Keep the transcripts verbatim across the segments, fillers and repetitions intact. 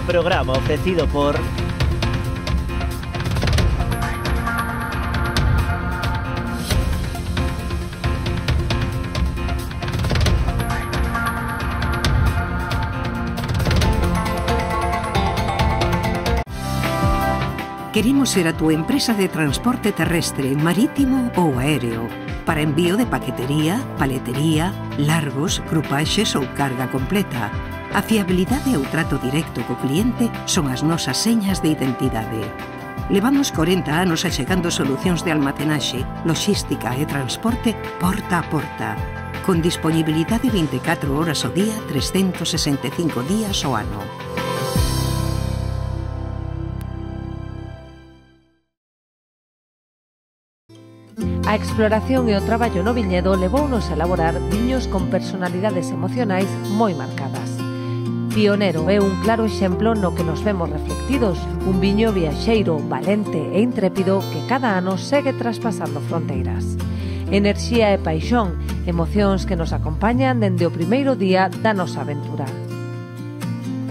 programa ofrecido por... Queremos ser a túa empresa de transporte terrestre, marítimo ou aéreo, para envío de paquetería, paletería, largos, grupaxes ou carga completa. A fiabilidade e o trato directo co cliente son as nosas señas de identidade. Levamos corenta anos achegando solucións de almacenaxe, logística e transporte porta a porta, con disponibilidade vinte e catro horas ao día, trescentos sesenta e cinco días ao ano. A exploración e o traballo no viñedo levounos a elaborar viños con personalidades emocionais moi marcadas. Pionero é un claro exemplo no que nos vemos reflectidos, un viño viaxeiro, valente e intrépido que cada ano segue traspasando fronteiras. Enerxía e paixón, emocións que nos acompañan dende o primeiro día da nosa aventura.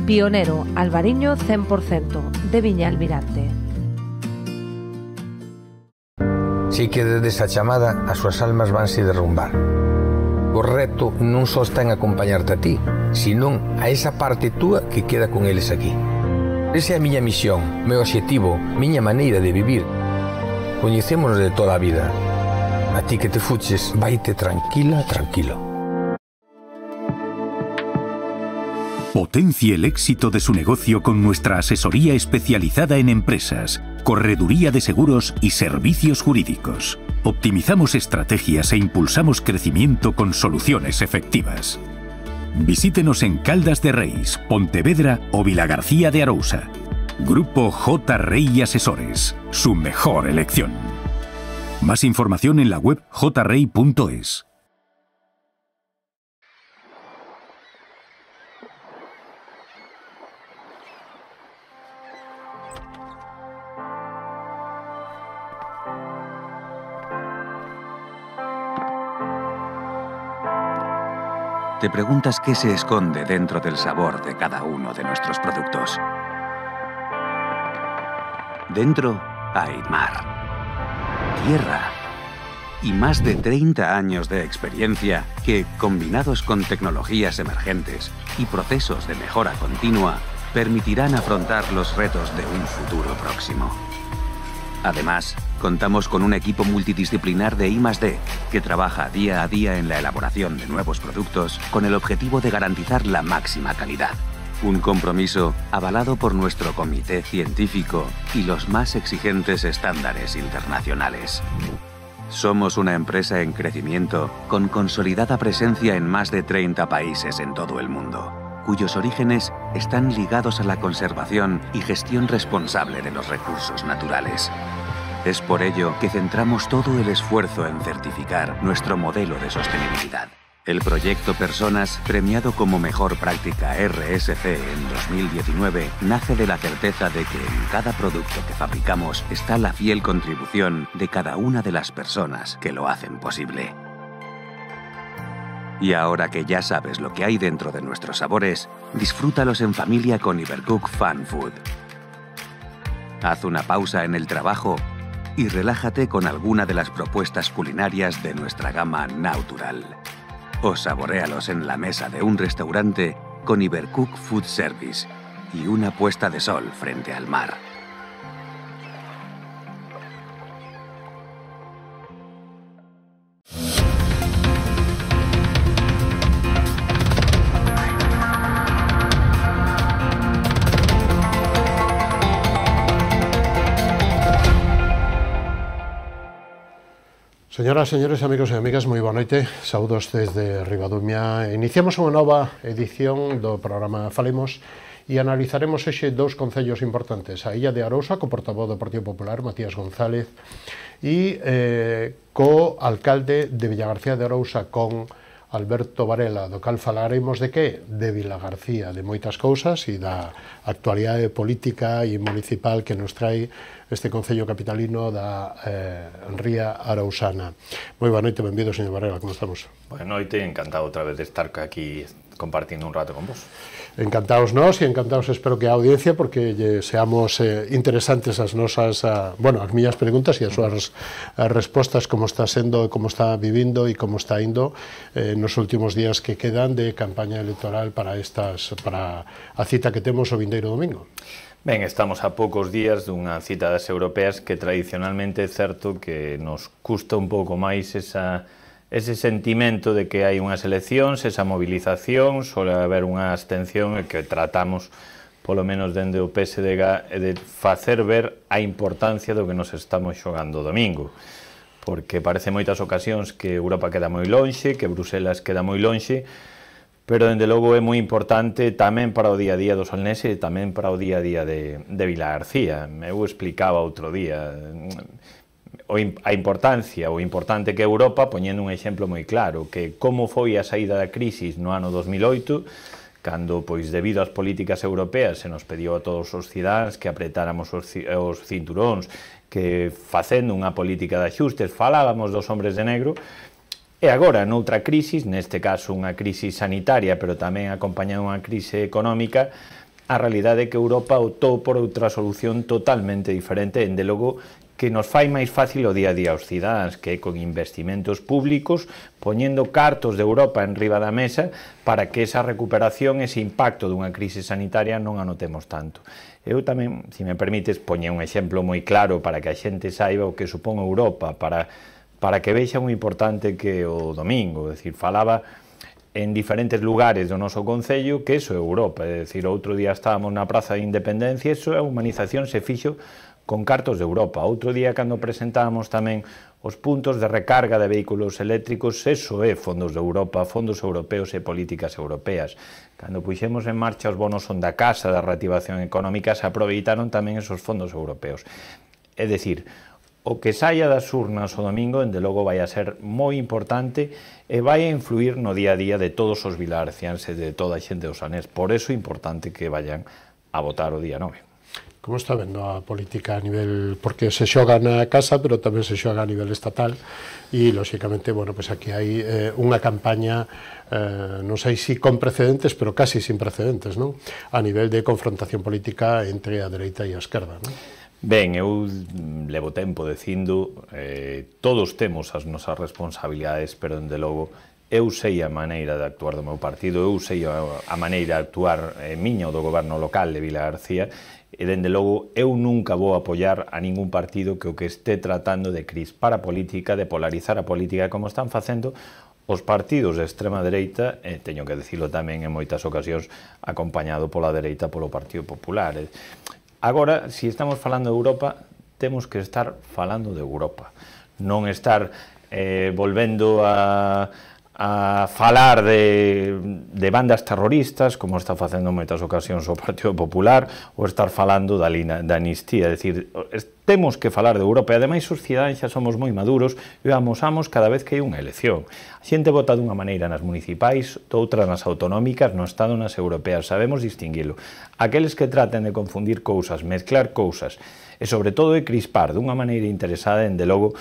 Pionero, Albariño cen por cento, de Viña Almirante. Si que desde esa chamada as súas almas vanse derrumbar. O reto non só está en acompañarte a ti, senón a esa parte túa que queda con eles aquí. Esa é a miña misión, meu obxectivo, miña maneira de vivir. Coñecémonos de toda a vida. A ti que te fuches, vaite tranquila, tranquilo. Potencie el éxito de su negocio con nuestra asesoría especializada en empresas, correduría de seguros y servicios jurídicos. Optimizamos estrategias e impulsamos crecimiento con soluciones efectivas. Visítenos en Caldas de Reis, Pontevedra o Vilagarcía de Arousa. Grupo J. Rey Asesores, su mejor elección. Más información en la web j rey punto es. ¿Te preguntas qué se esconde dentro del sabor de cada uno de nuestros productos? Dentro hay mar, tierra y más de treinta años de experiencia que, combinados con tecnologías emergentes y procesos de mejora continua, permitirán afrontar los retos de un futuro próximo. Además, contamos con un equipo multidisciplinar de I más D que trabaja día a día en la elaboración de nuevos productos con el objetivo de garantizar la máxima calidad. Un compromiso avalado por nuestro comité científico y los más exigentes estándares internacionales. Somos una empresa en crecimiento con consolidada presencia en más de treinta países en todo el mundo, cuyos orígenes están ligados a la conservación y gestión responsable de los recursos naturales. Es por ello que centramos todo el esfuerzo en certificar nuestro modelo de sostenibilidad. El proyecto Personas, premiado como Mejor Práctica R S C en dos mil diecinueve, nace de la certeza de que en cada producto que fabricamos está la fiel contribución de cada una de las personas que lo hacen posible. Y ahora que ya sabes lo que hay dentro de nuestros sabores, disfrútalos en familia con Ibercook Fun Food. Haz una pausa en el trabajo y relájate con alguna de las propuestas culinarias de nuestra gama Natural. O saboréalos en la mesa de un restaurante con Ibercook Food Service y una puesta de sol frente al mar. Señoras, señores, amigos e amigas, moi boa noite. Saúdos desde Ribadumia. Iniciamos unha nova edición do programa Falemos e analizaremos hoxe dous concellos importantes. A Illa de Arousa, co portavoz do Partido Popular, Matías González, e eh, co alcalde de Villagarcía de Arousa, con Alberto Varela, do cal falaremos de que? De Vilagarcía, de moitas cousas e da actualidade política e municipal que nos trae este concello capitalino da eh, Ría Arousana. Moi boa noite, benvido, señor Varela, como estamos? Boa noite, encantado outra vez de estar aquí compartindo un rato con vos. Encantados nós e encantados espero que a audiencia, porque lle seamos eh, interesantes as nosas, a, bueno, as miñas preguntas e as súas as respostas, como está sendo, como está vivindo e como está indo eh, nos últimos días que quedan de campaña electoral para estas para a cita que temos o vindeiro domingo. Ben, estamos a poucos días dunha cita das europeas que tradicionalmente é certo que nos custa un pouco máis esa ese sentimento de que hai unhas eleccións, esa movilización, suele haber unha abstención e que tratamos, polo menos dende o P S D G, de facer ver a importancia do que nos estamos xogando o domingo. Porque parece moitas ocasións que Europa queda moi lonxe, que Bruselas queda moi lonxe, pero, dende logo, é moi importante tamén para o día a día do Solnese e tamén para o día a día de, de Vilagarcía. Eu explicaba outro día a importancia, o importante que é Europa, poñendo un exemplo moi claro, que como foi a saída da crisis no ano dos mil oito, cando, pois, debido ás políticas europeas, se nos pediu a todos os cidáns que apretáramos os, os cinturóns, que facendo unha política de axustes falábamos dos hombres de negro, e agora, noutra crisis, neste caso unha crisis sanitaria, pero tamén acompañada unha crise económica, a realidade é que Europa optou por outra solución totalmente diferente, ende logo que nos fai máis fácil o día a día aos cidáns, que é con investimentos públicos, poñendo cartos de Europa en riba da mesa para que esa recuperación, ese impacto dunha crise sanitaria non a notemos tanto. Eu tamén, se me permites, poñe un exemplo moi claro para que a xente saiba o que supón Europa, para, para que vexa moi importante que o domingo, é dicir, falaba en diferentes lugares do noso concello que eso é Europa, é dicir, outro día estábamos na Praza de Independencia, eso é a humanización se fixo con cartos de Europa. Outro día, cando presentábamos tamén os puntos de recarga de vehículos eléctricos, eso é fondos de Europa, fondos europeos e políticas europeas. Cando puxemos en marcha os bonos son da casa da reactivación económica, se aproveitaron tamén esos fondos europeos. É dicir, o que saia das urnas o domingo, dende logo, vai a ser moi importante e vai a influir no día a día de todos os vilagarciáns e de toda a xente do Sanés. Por eso é importante que vayan a votar o día nove. Como está vendo a política a nivel, porque se xoga na casa, pero tamén se xoga a nivel estatal, e, lóxicamente, bueno, pues aquí hai eh, unha campaña, eh, non sei se con precedentes, pero casi sin precedentes, non? A nivel de confrontación política entre a dereita e a esquerda, non? Ben, eu levo tempo dicindo, eh, todos temos as nosas responsabilidades, pero, dende logo, eu sei a maneira de actuar do meu partido, eu sei a, a maneira de actuar eh, miña ou do goberno local de Vilagarcía, e, dende logo, eu nunca vou apoiar a ningún partido que o que este tratando de crispar a política, de polarizar a política, como están facendo os partidos de extrema dereita, e teño que dicilo tamén en moitas ocasións, acompañado pola dereita polo Partido Popular. Agora, se estamos falando de Europa, temos que estar falando de Europa, non estar eh, volvendo a... a falar de, de bandas terroristas, como está facendo en moitas ocasións o Partido Popular, ou estar falando da, lina, da amnistía. É dicir, temos que falar de Europa, e ademais os cidadáns xa somos moi maduros e amosamos cada vez que hai unha elección. A xente vota dunha maneira nas municipais, doutra nas autonómicas, no Estado nas europeas, sabemos distinguilo. Aqueles que traten de confundir cousas, mezclar cousas, e sobre todo de crispar dunha maneira interesada, en de logo,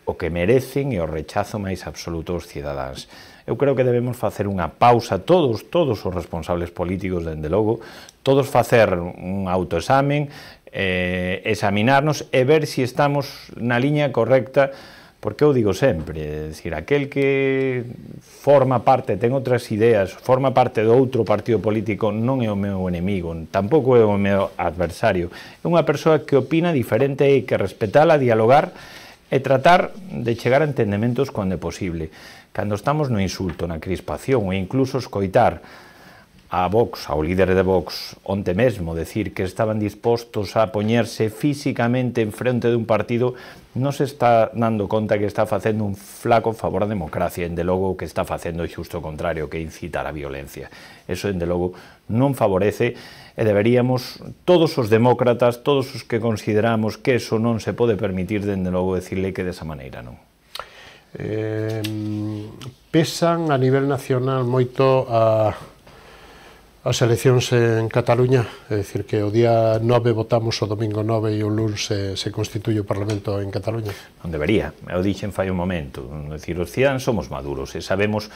o que merecen e o rechazo máis absoluto aos cidadáns. Eu creo que debemos facer unha pausa, todos, todos os responsables políticos, dende logo, todos facer un autoexamen, eh, examinarnos e ver se estamos na liña correcta, porque eu digo sempre, é dicir, aquel que forma parte, ten outras ideas, forma parte do outro partido político, non é o meu enemigo, tampouco é o meu adversario, é unha persoa que opina diferente e que respetala, dialogar, e tratar de chegar a entendementos cando é posible. Cando estamos no insulto, na crispación, e incluso escoitar a Vox, ao líder de Vox, onte mesmo, decir que estaban dispostos a poñerse físicamente en frente dun partido, non se está dando conta que está facendo un flaco favor á democracia, en de logo que está facendo xusto o contrario, que incitar a violencia. Eso, en de logo, non favorece, e deberíamos, todos os demócratas, todos os que consideramos que eso non se pode permitir, dende logo, decirle que desa maneira non. Eh, pesan a nivel nacional moito a... as eleccións en Cataluña, é dicir, que o día nove votamos o domingo nove e o luns se, se constituye o Parlamento en Cataluña. Non debería, eu dixen fai un momento, é dicir, os cidadáns somos maduros e sabemos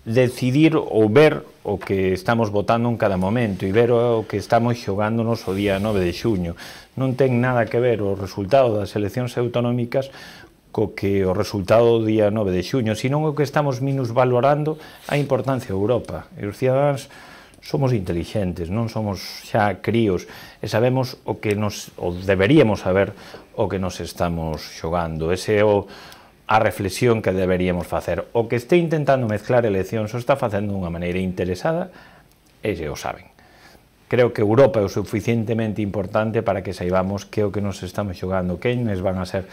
decidir ou ver o que estamos votando en cada momento e ver o que estamos xogándonos o día nove de xuño. Non ten nada que ver o resultado das eleccións autonómicas co que o resultado do día nove de xuño, senón o que estamos minusvalorando a importancia de Europa. E os cidadáns somos intelixentes, non somos xa críos e sabemos o que nos, ou deberíamos saber o que nos estamos xogando. Ese é o a reflexión que deberíamos facer. O que este intentando mezclar eleccións o está facendo dunha maneira interesada, e se o saben. Creo que Europa é o suficientemente importante para que saibamos que o que nos estamos xogando, quenes van a ser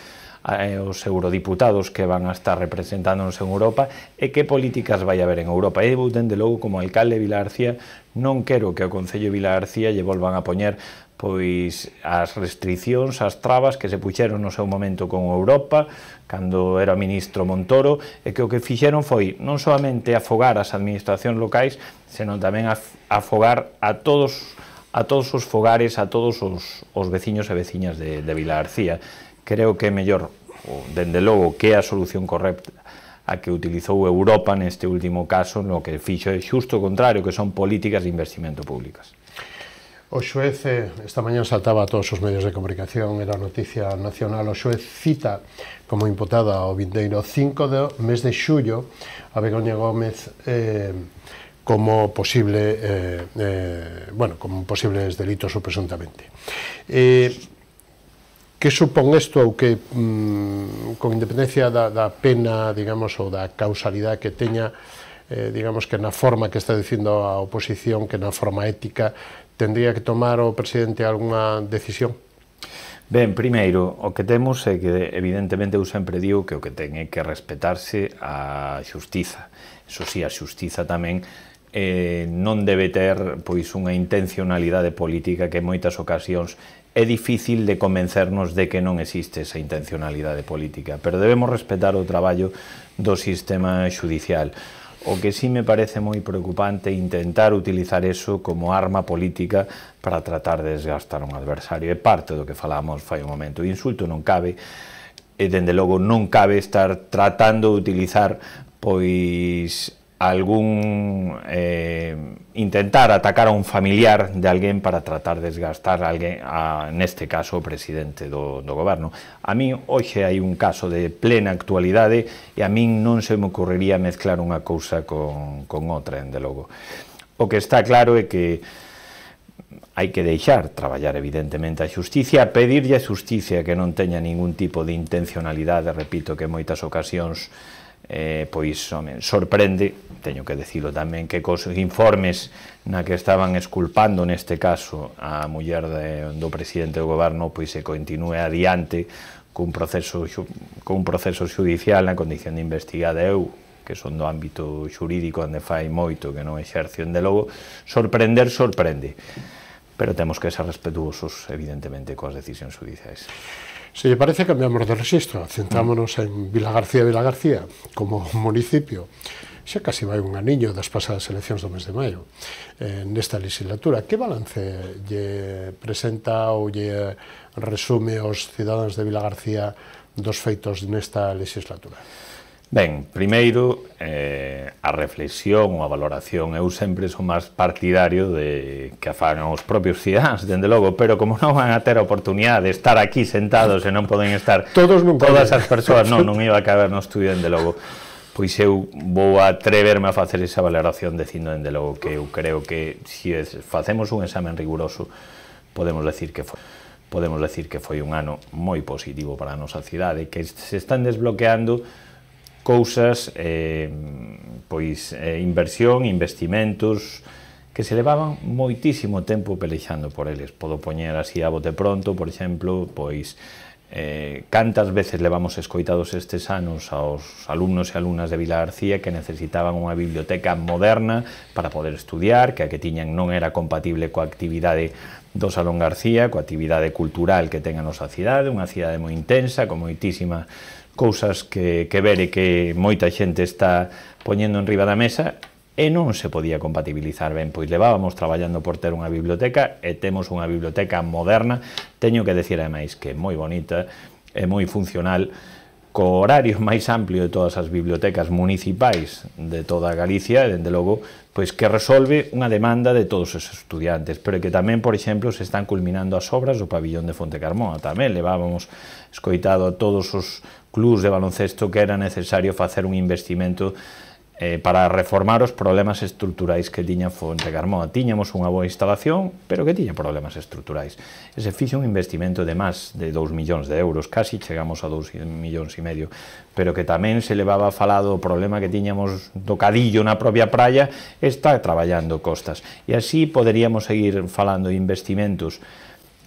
eh, os eurodiputados que van a estar representándonos en Europa e que políticas vai haber en Europa. E, dende logo, como alcalde de Vilagarcía, non quero que o Concello de Vilagarcía lle volvan a poñer pois as restriccións, as trabas que se puxeron no seu momento con Europa, cando era ministro Montoro, e que o que fixeron foi non solamente afogar as administracións locais, senón tamén afogar a todos a todos os fogares, a todos os, os veciños e veciñas de, de Vilagarcía. Creo que é mellor, dende logo, que é a solución correcta a que utilizou Europa neste último caso, no que fixo é xusto o contrario, que son políticas de investimento públicas. O xuez, esta mañá saltaba a todos os medios de comunicación, era noticia nacional, o xuez cita como imputada ao vindeiro cinco do mes de xullo a Begoña Gómez eh, como posible, eh, eh, bueno, como posibles delitos ou presuntamente. Eh, que supón isto ou que, mm, con independencia da, da pena, digamos, ou da causalidade que teña, eh, digamos que na forma que está dicindo a oposición, que na forma ética, tendría que tomar o presidente algunha decisión? Ben, primeiro, o que temos é que, evidentemente, eu sempre digo que o que ten é que respetarse a xustiza. Eso sí, a xustiza tamén eh, non debe ter pois unha intencionalidade política que en moitas ocasións é difícil de convencernos de que non existe esa intencionalidade política, pero debemos respetar o traballo do sistema xudicial. O que sí me parece moi preocupante é intentar utilizar eso como arma política para tratar de desgastar un adversario. É parte do que falamos fai un momento. O insulto non cabe, e dende logo non cabe estar tratando de utilizar pois algún eh, intentar atacar a un familiar de alguén para tratar de desgastar a alguén, a, neste caso o presidente do, do goberno. A min hoxe hai un caso de plena actualidade e a min non se me ocurriría mezclar unha cousa con, con outra, dende logo. O que está claro é que hai que deixar traballar evidentemente a xusticia, pedirlle a xusticia que non teña ningún tipo de intencionalidade, repito que en moitas ocasións Eh, pois home, sorprende, teño que decirlo tamén, que cos informes na que estaban esculpando neste caso a muller de, do presidente do goberno pois se continúe adiante cun proceso, cun proceso judicial na condición de investigada. Eu, que son do ámbito xurídico onde fai moito que non exercio, de logo, sorprender sorprende, pero temos que ser respetuosos evidentemente coas decisións judiciais. Se lle parece, cambiamos de registro, centrámonos en Vilagarcía Vilagarcía como municipio. Xa casi vai un aniño das pasadas eleccións do mes de maio eh, nesta legislatura. Que balance lle presenta ou lle resume aos cidadáns de Vilagarcía dos feitos nesta legislatura? Ben, primeiro, eh, a reflexión ou a valoración. Eu sempre son máis partidario de que a fagan os propios cidadáns, dende logo, pero como non van a ter a oportunidade de estar aquí sentados e non poden estar todos todas as persoas, non, non iba a caber no estudio, dende logo, pois eu vou atreverme a facer esa valoración dicindo, dende logo, que eu creo que se facemos un examen riguroso, podemos decir que foi podemos decir que foi un ano moi positivo para a nosa cidade, que se están desbloqueando cousas, eh, pois eh, inversión, investimentos que se levaban moitísimo tempo pelexando por eles. Podo poñer así a bote pronto, por exemplo, pois eh, cantas veces levamos escoitados estes anos aos alumnos e alumnas de Vilagarcía que necesitaban unha biblioteca moderna para poder estudiar, que a que tiñan non era compatible coa actividade do Salón García, coa actividade cultural que ten a nosa cidade, unha cidade moi intensa, con moitísimas cousas que, que ver e que moita xente está poñendo en riba da mesa e non se podía compatibilizar ben, pois levábamos traballando por ter unha biblioteca e temos unha biblioteca moderna, teño que decir ademais que é moi bonita, é moi funcional, co horario máis amplio de todas as bibliotecas municipais de toda Galicia, e, dende logo, pois que resolve unha demanda de todos os estudiantes, pero que tamén, por exemplo, se están culminando as obras do pabillón de Fontecarmona. Tamén levábamos escoitado a todos os clubs de baloncesto que era necesario facer un investimento eh, para reformar os problemas estruturais que tiña Fontecarmona. Tiñamos unha boa instalación, pero que tiña problemas estruturais. E se fixe un investimento de máis de dous millóns de euros, casi chegamos a dous millóns e medio, pero que tamén se levaba falado o problema que tiñamos do cadillo na propia praia, está traballando costas. E así poderíamos seguir falando de investimentos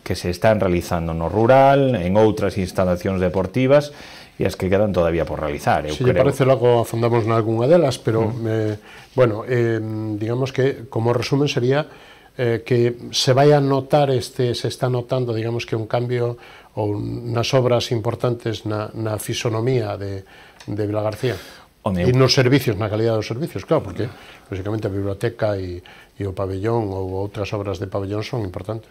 que se están realizando no rural, en outras instalacións deportivas, e as que quedan todavía por realizar. Se lle parece, logo afondamos nalgúnha delas, pero, mm. eh, bueno, eh, digamos que, como resumen, sería eh, que se vai a notar, este, se está notando, digamos que un cambio ou nas obras importantes na, na fisonomía de, de Vilagarcía. E nos servicios, na calidad dos servicios, claro, porque, lógicamente, a biblioteca e, e o pabellón ou outras obras de pabellón son importantes.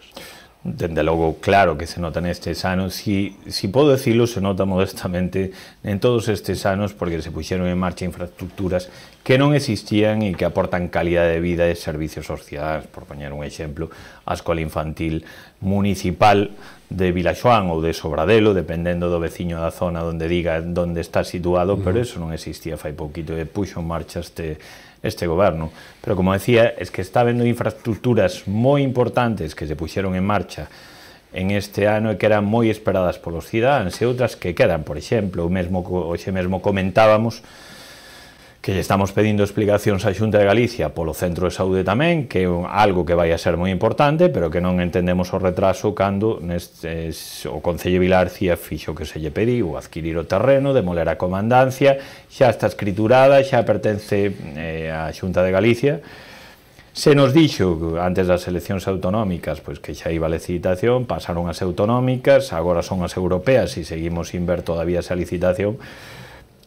Dende logo, claro que se nota nestes anos, si, si podo decirlo, se nota modestamente en todos estes anos, porque se puxeron en marcha infraestructuras que non existían e que aportan calidad de vida e servicios aos cidadanos. Por poñer un exemplo, a Escola Infantil Municipal de Vilaxoán ou de Sobradelo, dependendo do veciño da zona onde diga onde está situado, uh-huh. pero eso non existía fai pouquito, e puxo en marcha este este goberno. Pero, como decía, es que está habendo infraestructuras moi importantes que se puxeron en marcha en este ano e que eran moi esperadas polos cidadáns, e outras que quedan. Por exemplo, o mesmo, hoxe mesmo comentábamos que lle estamos pedindo explicacións á Xunta de Galicia polo Centro de Saúde tamén, que é algo que vai a ser moi importante, pero que non entendemos o retraso cando neste, o Concello de Vilagarcía fixo que se lle pediu adquirir o terreno, demoler a comandancia, xa está escriturada, xa pertence eh, á Xunta de Galicia. Se nos dixo antes das eleccións autonómicas pois que xa iba a licitación, pasaron as autonómicas, agora son as europeas e seguimos sin ver todavía esa licitación.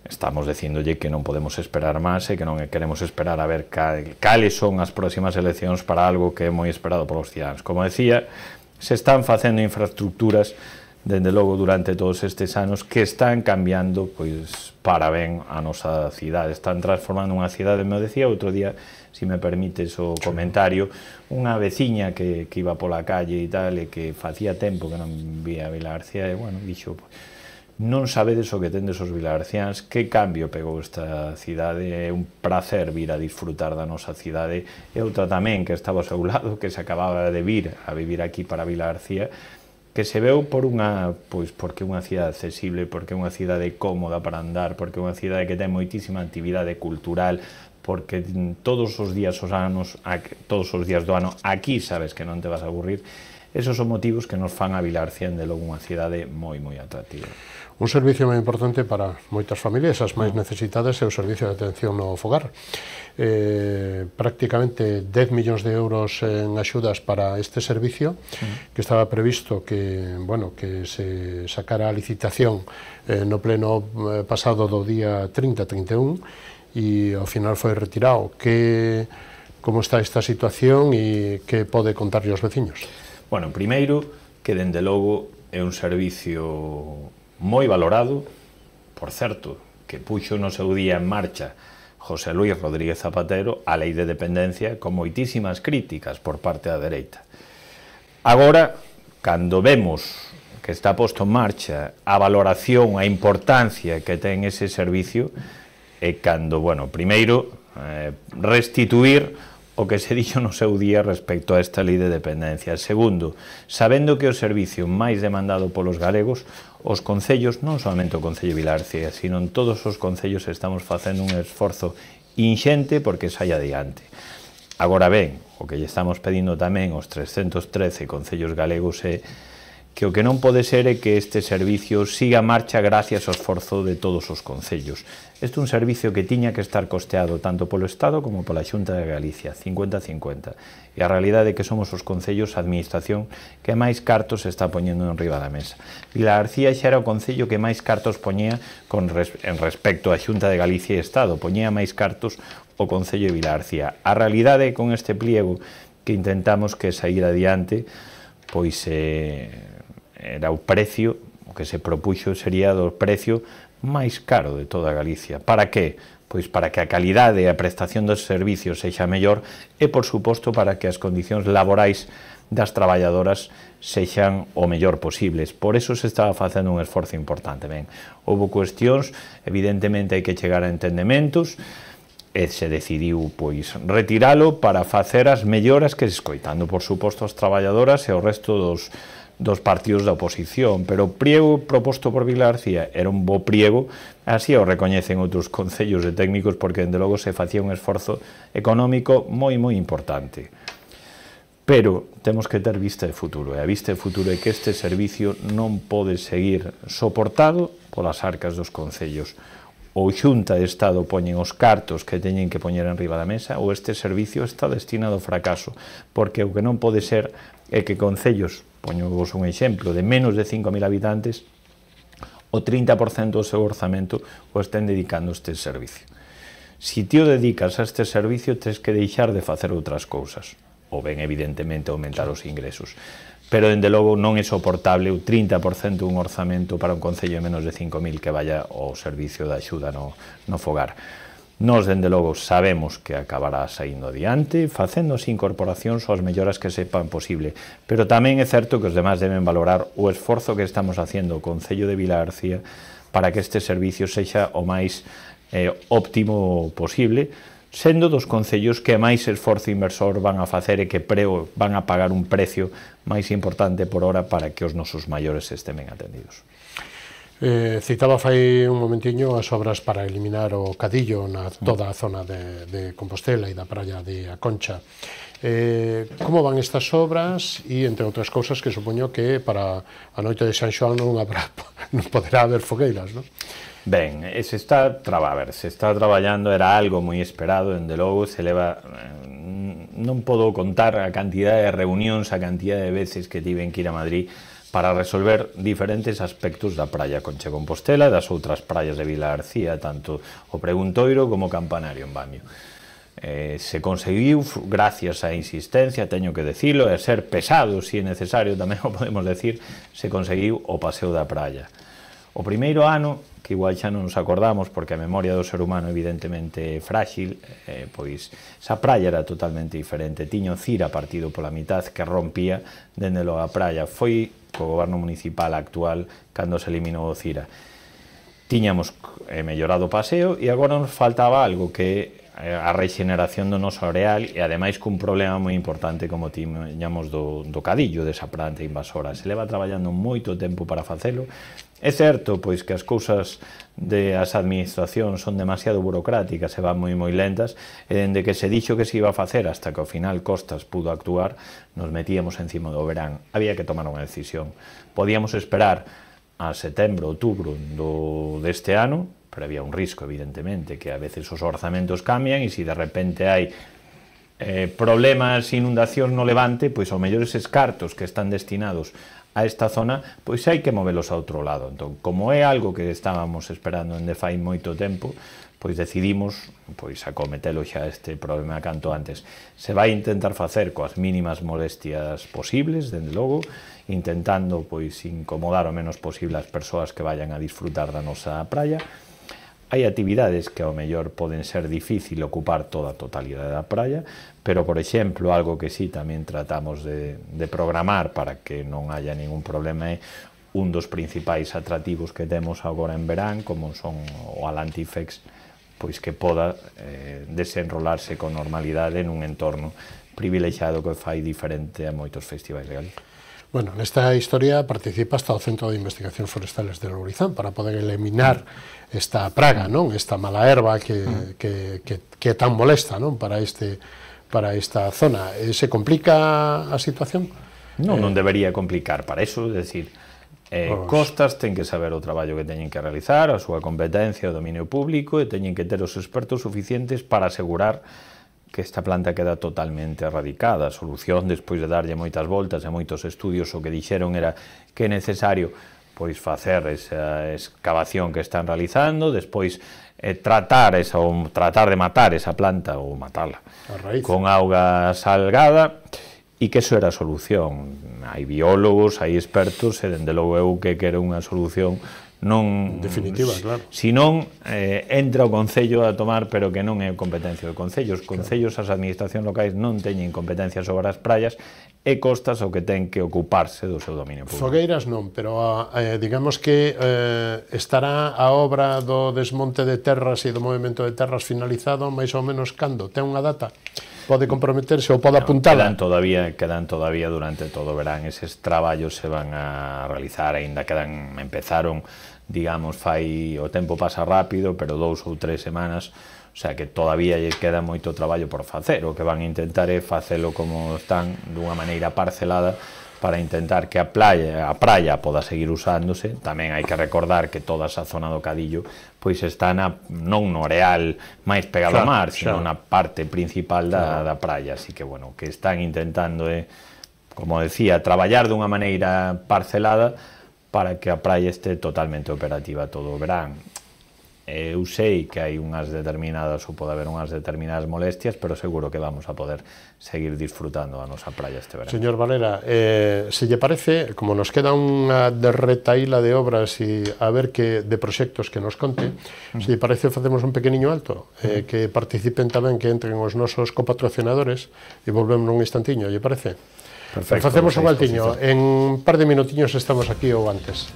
Estamos dicíndolle que non podemos esperar máis e que non queremos esperar a ver cales son as próximas eleccións para algo que é moi esperado polos cidadáns. Como decía, se están facendo infraestructuras dende logo durante todos estes anos que están cambiando pois para ben a nosa cidade, están transformando unha cidade. Me decía outro día, se me permites o comentario, unha veciña que, que iba pola calle e tal, e que facía tempo que non vía Vilagarcía, e bueno, dixo, non sabedes o que tendes os vilagarciáns, que cambio pegou esta cidade, é un prazer vir a disfrutar da nosa cidade. E outra tamén que estaba ao seu lado, que se acababa de vir a vivir aquí para Vilagarcía, que se veu por unha, pois porque é unha cidade accesible, porque é unha cidade cómoda para andar, porque é unha cidade que ten moitísima actividade cultural, porque todos os días os anos, todos os días do ano, aquí sabes que non te vas a aburrir. Esos son motivos que nos fan a Vilagarcía de logo unha cidade moi, moi atractiva. Un servicio moi importante para moitas familias, as máis necesitadas, é o servicio de atención no fogar. Eh, prácticamente dez millóns de euros en axudas para este servicio, que estaba previsto que, bueno, que se sacara a licitación eh, no pleno eh, pasado do día trinta, trinta e un, e ao final foi retirado. Que, como está esta situación e que pode contarlle aos veciños? Bueno, primeiro, que dende logo é un servicio moi valorado, por certo, que puxo no seu día en marcha José Luis Rodríguez Zapatero a lei de dependencia con moitísimas críticas por parte da dereita. Agora, cando vemos que está posto en marcha a valoración, a importancia que ten ese servicio, é cando, bueno, primeiro, eh, restituir o que se dixo no seu día respecto a esta lei de dependencia. Segundo, sabendo que o servicio máis demandado polos galegos, os concellos, non somente o Concello de Vilagarcía, sino en todos os concellos estamos facendo un esforzo inxente porque saia adiante. Agora ben, o que lle estamos pedindo tamén aos trescentos trece concellos galegos é que o que non pode ser é que este servicio siga a marcha gracias ao esforzo de todos os concellos. Este é un servicio que tiña que estar costeado tanto polo Estado como pola Xunta de Galicia, cincuenta a cincuenta. E a realidade é que somos os concellos, a administración, que máis cartos se está poñendo en riba da mesa. Vilagarcía xa era o concello que máis cartos poñía con res, en respecto á Xunta de Galicia e Estado, poñía máis cartos o Concello de Vilagarcía. A realidade con este pliego que intentamos que sair adiante, pois eh, era o precio, o que se propuxo sería do precio máis caro de toda Galicia. Para que? Pois para que a calidade e a prestación dos servicios sexa mellor e, por suposto, para que as condicións laborais das traballadoras sexan o mellor posibles. Por eso se estaba facendo un esforzo importante. Ben, houve cuestións, evidentemente hai que chegar a entendementos, e se decidiu pois retiralo para facer as melloras que, escoitando, por suposto, as traballadoras e o resto dos dos partidos da oposición, pero o priego proposto por Vilar García era un bo priego, así o recoñecen outros concellos e técnicos, porque, dende logo, se facía un esforzo económico moi, moi importante. Pero temos que ter vista de futuro, e a vista de futuro é que este servicio non pode seguir soportado polas arcas dos concellos. Ou Xunta de Estado poñen os cartos que teñen que poñer en riba da mesa, ou este servicio está destinado ao fracaso, porque o que non pode ser é que concellos, poñovos un exemplo, de menos de cinco mil habitantes, o trinta por cento do seu orzamento o estén dedicando a este servicio. Si ti o dedicas a este servicio, tens que deixar de facer outras cousas, ou ben, evidentemente, aumentar os ingresos. Pero, dende logo, non é soportable o trinta por cento dun orzamento para un concello de menos de cinco mil que vaya ao servicio de axuda no, no fogar. Nós, dende logo, sabemos que acabará saindo adiante, facendo as incorporacións ou as melloras que sepan posible, pero tamén é certo que os demás deben valorar o esforzo que estamos facendo o Concello de Vilar García para que este servicio sexa o máis eh, óptimo posible, sendo dos concellos que máis esforzo inversor van a facer e que preo van a pagar un precio máis importante por hora para que os nosos maiores estén ben atendidos. Eh, citaba fai un momentiño as obras para eliminar o cadillo na toda a zona de, de Compostela e da praia de A Concha. Eh, como van estas obras e, entre outras cousas, que supoño que para a noite de San Xoán non, habrá, non poderá haber fogueiras, non? Ben, se está, a ver, se está traballando, era algo moi esperado, dende logo, se leva, non podo contar a cantidad de reunións, a cantidad de veces que tiven que ir a Madrid para resolver diferentes aspectos da praia Concha Compostela e das outras praias de Vilar García, tanto o Preguntoiro como o Campanario en Bamio. Eh, se conseguiu, gracias á insistencia, teño que decirlo, e a ser pesado, se é necesario, tamén o podemos decir, se conseguiu o paseo da praia. O primeiro ano, que igual xa non nos acordamos, porque a memoria do ser humano evidentemente é frágil, eh, pois esa praia era totalmente diferente, tiña o Cira partido pola mitad que rompía dende logo a praia. Foi co goberno municipal actual cando se eliminou o Cira. Tiñamos eh, mellorado o paseo e agora nos faltaba algo que é a regeneración do noso areal e ademais cun problema moi importante como tiñamos do, do cadillo desa planta invasora. Se leva traballando moito tempo para facelo. É certo, pois, que as cousas das administracións son demasiado burocráticas e van moi moi lentas, e dende que se dixo que se iba a facer hasta que ao final Costas pudo actuar, nos metíamos encima do verán. Había que tomar unha decisión. Podíamos esperar a setembro, outubro do, deste ano, pero había un risco, evidentemente, que a veces os orzamentos cambian e se de repente hai eh, problemas, inundacións no Levante, pois ao mellor eses cartos que están destinados a esta zona, pois hai que movelos a outro lado. Entón, como é algo que estábamos esperando dende fai moito tempo, pois decidimos pois acometelo xa este problema canto antes. Se vai intentar facer coas mínimas molestias posibles, dende logo, intentando pois incomodar o menos posible as persoas que vayan a disfrutar da nosa praia. Hai actividades que ao mellor poden ser difícil ocupar toda a totalidade da praia, pero, por exemplo, algo que sí tamén tratamos de, de programar para que non haya ningún problema é un dos principais atrativos que temos agora en verán, como son o Alantifex, pois que poda eh, desenrolarse con normalidade nun entorno privilexiado que fai diferente a moitos festivais de Galicia. Bueno, nesta historia participa hasta o Centro de Investigacións Forestales de Lourizán para poder eliminar esta praga, non? Esta mala erva que, que, que, que é tan molesta, non? Para, este, para esta zona. Se complica a situación? Non, non debería complicar. Para eso, é dicir, eh, Costas ten que saber o traballo que teñen que realizar, a súa competencia, o dominio público, e teñen que ter os expertos suficientes para asegurar que esta planta queda totalmente erradicada. A solución, despois de darlle moitas voltas e moitos estudios, o que dixeron era que é necesario pois facer esa excavación que están realizando, despois eh, tratar esa, ou tratar de matar esa planta ou matala con auga salgada, e que eso era a solución. Hai biólogos, hai expertos, e dende logo eu que quero unha solución non... Definitiva, claro. Si non, eh, entra o Concello a tomar, pero que non é competencia do Concello. Os Concellos, as administracións locais non teñen competencia sobre as praias e costas o que ten que ocuparse do seu dominio público. Fogueiras non, pero eh, digamos que eh, estará a obra do desmonte de terras e do movimento de terras finalizado máis ou menos cando? Ten unha data? Pode comprometerse ou pode apuntar? Quedan todavía, quedan todavía durante todo o verán. Eses traballos se van a realizar, aínda quedan, empezaron, digamos, fai, o tempo pasa rápido, pero dous ou tres semanas, o sea que todavía lle queda moito traballo por facer. O que van a intentar é facelo como están, dunha maneira parcelada, para intentar que a praia, a praia poda seguir usándose. Tamén hai que recordar que toda esa zona do Cadillo pois está na, non no areal máis pegado ao mar, sino na parte principal da, da praia. Así que, bueno, que están intentando, eh, como decía, traballar dunha maneira parcelada para que a praia este totalmente operativa todo o verán. Eu sei que hai unhas determinadas, ou pode haber unhas determinadas molestias, pero seguro que vamos a poder seguir disfrutando a nosa praia este verán. Señor Valera, eh, se lle parece, como nos queda unha derretaíla de obras e a ver que de proxectos que nos conte, mm. se lle parece facemos un pequeniño alto, eh, que participen tamén, que entren os nosos copatrocinadores e volvemos nun instantiño, lle parece? Perfecto. Facemos un altiño, en un par de minutiños estamos aquí ou antes.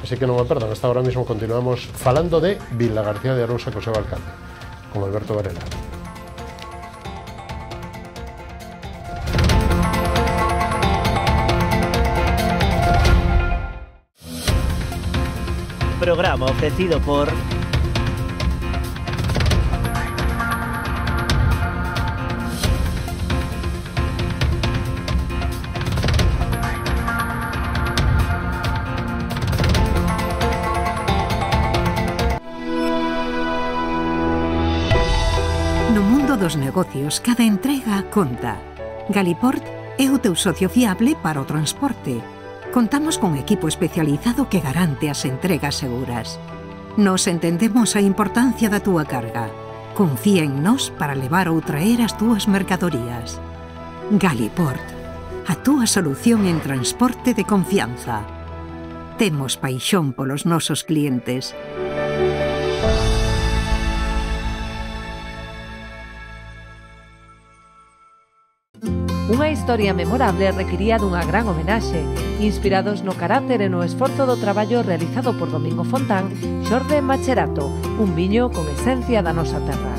Así que non me perdan, hasta ahora mismo continuamos falando de Vilagarcía de Arousa co seu alcalde, con Alberto Varela. Programa ofrecido por... Dos negocios, cada entrega conta. Galiport é o teu socio fiable para o transporte. Contamos con equipo especializado que garante as entregas seguras. Nos entendemos a importancia da túa carga. Confía en nós para levar ou traer as túas mercadorías. Galiport, a túa solución en transporte de confianza. Temos paixón polos nosos clientes. Unha historia memorable requiría dunha gran homenaxe, inspirados no carácter e no esforzo do traballo realizado por Domingo Fontán, Xorde Macherato, un viño con esencia da nosa terra.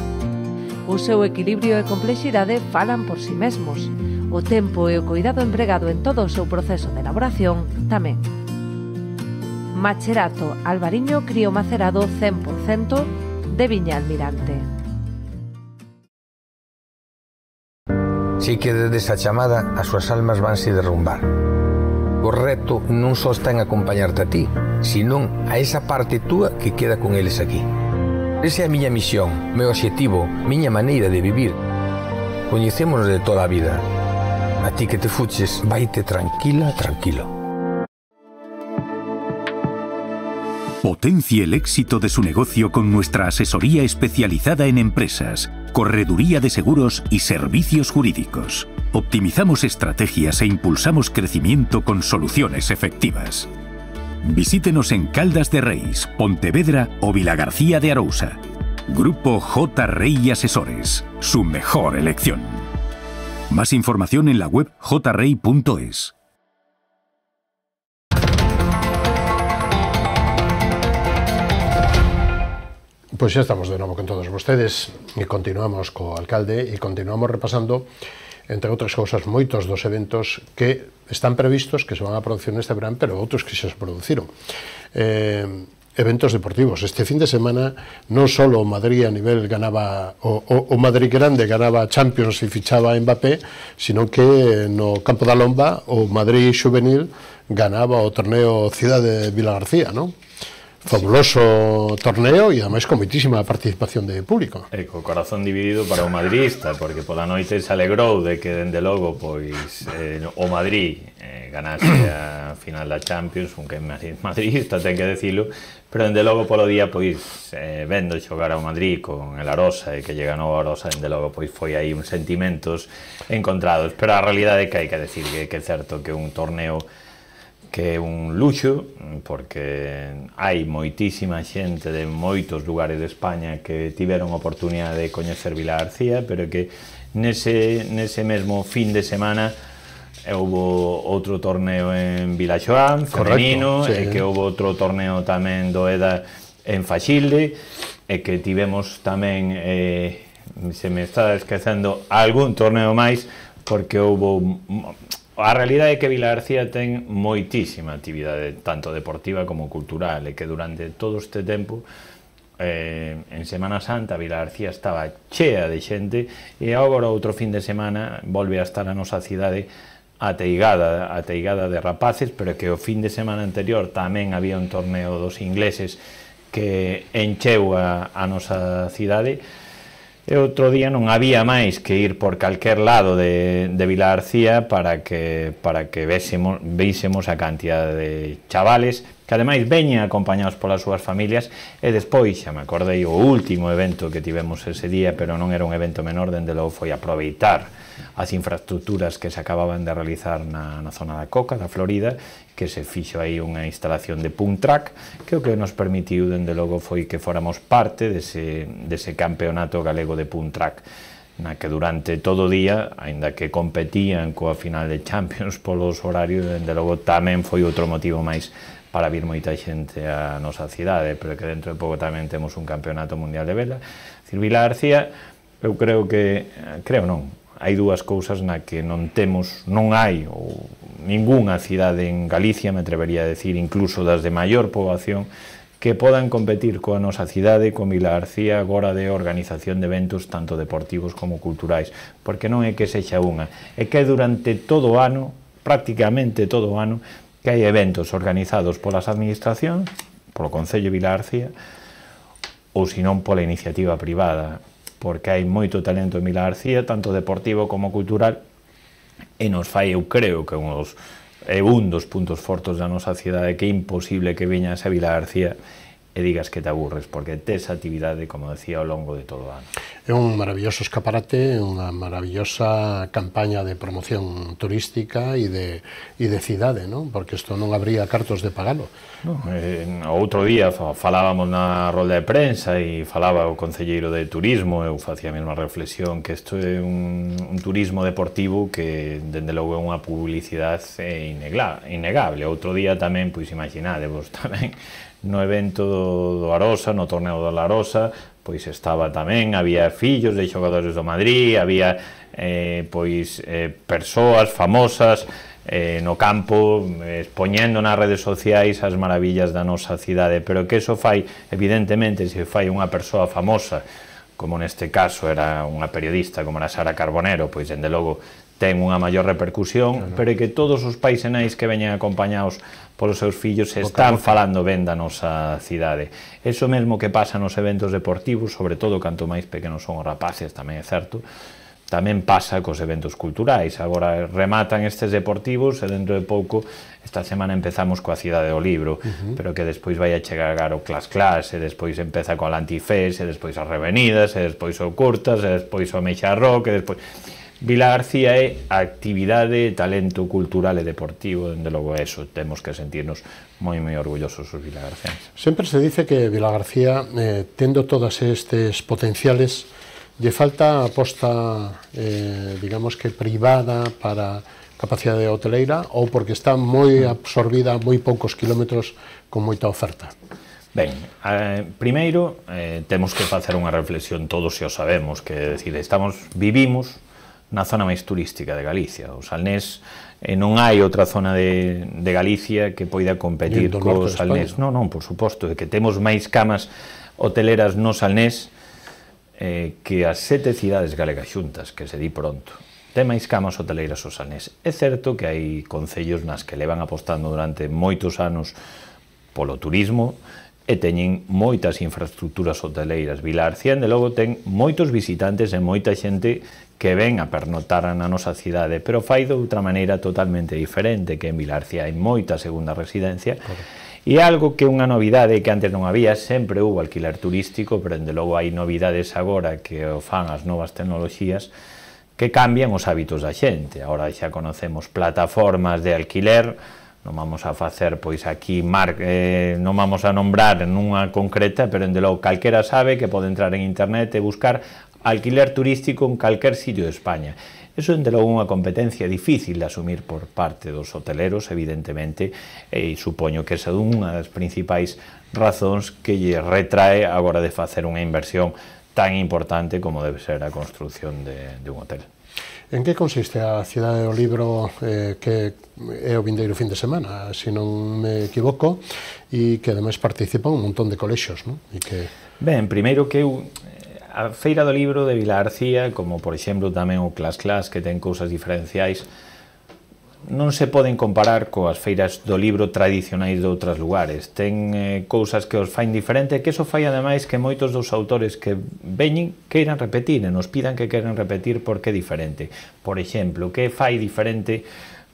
O seu equilibrio e complexidade falan por si mesmos. O tempo e o cuidado empregado en todo o seu proceso de elaboración tamén. Macherato Albariño Crío Macerado cen por cento de Viña Almirante. Si que desde esa chamada as súas almas vanse derrumbar. O reto non só está en acompañarte a ti, senón a esa parte túa que queda con eles aquí. Esa é a miña misión, meu obxectivo, miña maneira de vivir. Coñecémonos de toda a vida. A ti que te fuches, vaite tranquila, tranquilo. Potencie el éxito de su negocio con nuestra asesoría especializada en empresas, correduría de seguros y servicios jurídicos. Optimizamos estrategias e impulsamos crecimiento con soluciones efectivas. Visítenos en Caldas de Reis, Pontevedra o Vilagarcía de Arousa. Grupo J. Rey Asesores, su mejor elección. Más información en la web j rey punto es. Pois xa estamos de novo con todos vostedes e continuamos co alcalde e continuamos repasando, entre outras cousas, moitos dos eventos que están previstos, que se van a producir neste verán, pero outros que xa se produciron. Eh, eventos deportivos. Este fin de semana non só o Madrid a nivel ganaba, o, o, o Madrid grande ganaba Champions e fichaba a Mbappé, sino que no campo da Lomba o Madrid juvenil ganaba o torneo Cidade de Vilagarcía, non? Fabuloso torneo e ademais con moitísima participación de público. E co corazón dividido para o madridista, porque pola noite se alegrou de que, dende logo, pois eh, o Madrid eh, ganase a final da Champions, un que é madridista, ten que decilo, pero dende logo polo día, pois, eh, vendo xogar ao Madrid con el Arosa e que lle ganou a Arosa, dende logo, pois, foi aí uns sentimentos encontrados, pero a realidade é que hai que decir que, que é certo que un torneo que é un luxo, porque hai moitísima xente de moitos lugares de España que tiveron oportunidade de coñecer Vilagarcía, pero que nese, nese mesmo fin de semana houve outro torneo en Vilaxoán, femenino, sí, e que houve outro torneo tamén do E D A en Faxilde, e que tivemos tamén, eh, se me está esquecendo, algún torneo máis, porque houve... A realidade é que Vilagarcía ten moitísima actividade, tanto deportiva como cultural, e que durante todo este tempo, eh, en Semana Santa, Vilagarcía estaba chea de xente, e agora outro fin de semana volve a estar a nosa cidade ateigada, ateigada de rapaces, pero que o fin de semana anterior tamén había un torneo dos ingleses que encheu a, a nosa cidade. E outro día non había máis que ir por calquer lado de, de Vilagarcía para que, para que vésemos, vísemos a cantidad de chavales que ademais veñen acompañados polas súas familias. E despois, xa me acordei, o último evento que tivemos ese día, pero non era un evento menor, dende logo foi aproveitar as infraestructuras que se acababan de realizar na, na zona da Coca, da Florida, que se fixo aí unha instalación de punk track, que o que nos permitiu, dende logo, foi que fóramos parte dese, dese campeonato galego de punk track, na que durante todo o día, aínda que competían coa final de Champions polos horarios, dende logo tamén foi outro motivo máis para vir moita xente á nosa cidade, pero que dentro de pouco tamén temos un campeonato mundial de vela. Dicir, Vilagarcía, eu creo que, creo non, hai dúas cousas na que non temos, non hai ou ningunha cidade en Galicia, me atrevería a decir, incluso das de maior poboación, que podan competir coa nosa cidade, con Vilagarcía, agora de organización de eventos tanto deportivos como culturais, porque non é que sexa unha, é que durante todo o ano, prácticamente todo o ano, que hai eventos organizados polas administracións, polo Concello de Vilagarcía, ou senón pola iniciativa privada, porque hai moito talento en Vilagarcía, tanto deportivo como cultural, e nos fai, eu creo, que uns, é un dos puntos fortes da nosa cidade, que é imposible que veñas a Vilagarcía e digas que te aburres, porque tes actividade, como decía, ao longo de todo o ano. É un maravilloso escaparate, unha maravillosa campaña de promoción turística e de, e de cidade, non? Porque isto non habría cartos de pagalo. No, eh, outro día falábamos na rolda de prensa e falaba o concelleiro de turismo, eu facía a mesma reflexión, que isto é un, un turismo deportivo que, dende logo, é unha publicidade innegable. Outro día tamén, pois imaginadevos, tamén, no evento do Arosa, no torneo do Arosa, pois estaba tamén, había fillos de xogadores do Madrid, había eh, pois eh, persoas famosas eh, no campo, eh, expoñendo nas redes sociais as maravillas da nosa cidade, pero que eso fai, evidentemente, se fai unha persoa famosa, como neste caso era unha periodista como era Sara Carbonero, pois, dende logo, ten unha maior repercusión, pero é que todos os pais e nais que veñen acompañados polos seus fillos están falando ben da nosa cidade. Eso mesmo que pasa nos eventos deportivos, sobre todo canto máis pequenos son os rapaces, tamén é certo, tamén pasa cos eventos culturais. Agora rematan estes deportivos e dentro de pouco, esta semana empezamos coa Cidade do Libro, uh-huh. pero que despois vai a chegar o Clas Clas, e despois empeza coa Lantifés, e despois as Revenidas, e despois o Curtas, e despois o Meixa Rock, e despois... Vilagarcía é actividade, talento cultural e deportivo, dende logo eso, temos que sentirnos moi moi orgullosos os vilagarcianos. Sempre se dice que Vilagarcía, eh, tendo todas estes potenciales, lle falta aposta, eh, digamos que privada para capacidade hoteleira, ou porque está moi absorbida a moi poucos kilómetros con moita oferta? Ben, eh, primeiro, eh, temos que facer unha reflexión, todos se o sabemos, que decir, estamos, vivimos na zona máis turística de Galicia. O Salnés, eh, non hai outra zona de, de Galicia que poida competir co Salnés. Non, non, por suposto, de que temos máis camas hoteleras no Salnés eh, que as sete cidades galegas xuntas, que se di pronto. Ten máis camas hoteleiras o Salnés. É certo que hai concellos nas que levan apostando durante moitos anos polo turismo e teñen moitas infraestructuras hoteleiras. Vilagarcía, de logo, ten moitos visitantes e moita xente que ven a pernotar na nosa cidade, pero fai de outra maneira totalmente diferente, que en Vilagarcía hai moita segunda residencia, e algo que é unha novidade que antes non había, sempre hubo alquiler turístico, pero de logo hai novidades agora que o fan as novas tecnoloxías que cambian os hábitos da xente. Agora xa conocemos plataformas de alquiler non vamos a facer, pois aquí, mar, eh, non vamos a nombrar nunha concreta, pero dende logo calquera sabe que pode entrar en internet e buscar alquiler turístico en calquer sitio de España. Eso, dende logo, unha competencia difícil de asumir por parte dos hoteleros, evidentemente, e supoño que esa é unha das principais razóns que lle retrae agora de facer unha inversión tan importante como debe ser a construción de, de un hotel. En que consiste a Cidade do Libro, eh, que é o vindeiro fin de semana, se non me equivoco, e que ademais participa un montón de colexios, non? E que... Ben, primeiro que eu... A Feira do Libro de Vilagarcía, como por exemplo tamén o Clas Clas, que ten cousas diferenciais, non se poden comparar coas feiras do libro tradicionais de outros lugares. Ten eh, cousas que os fain diferente, que eso fai ademais que moitos dos autores que veñen queiran repetir, e nos pidan que queiran repetir porque é diferente. Por exemplo, que fai diferente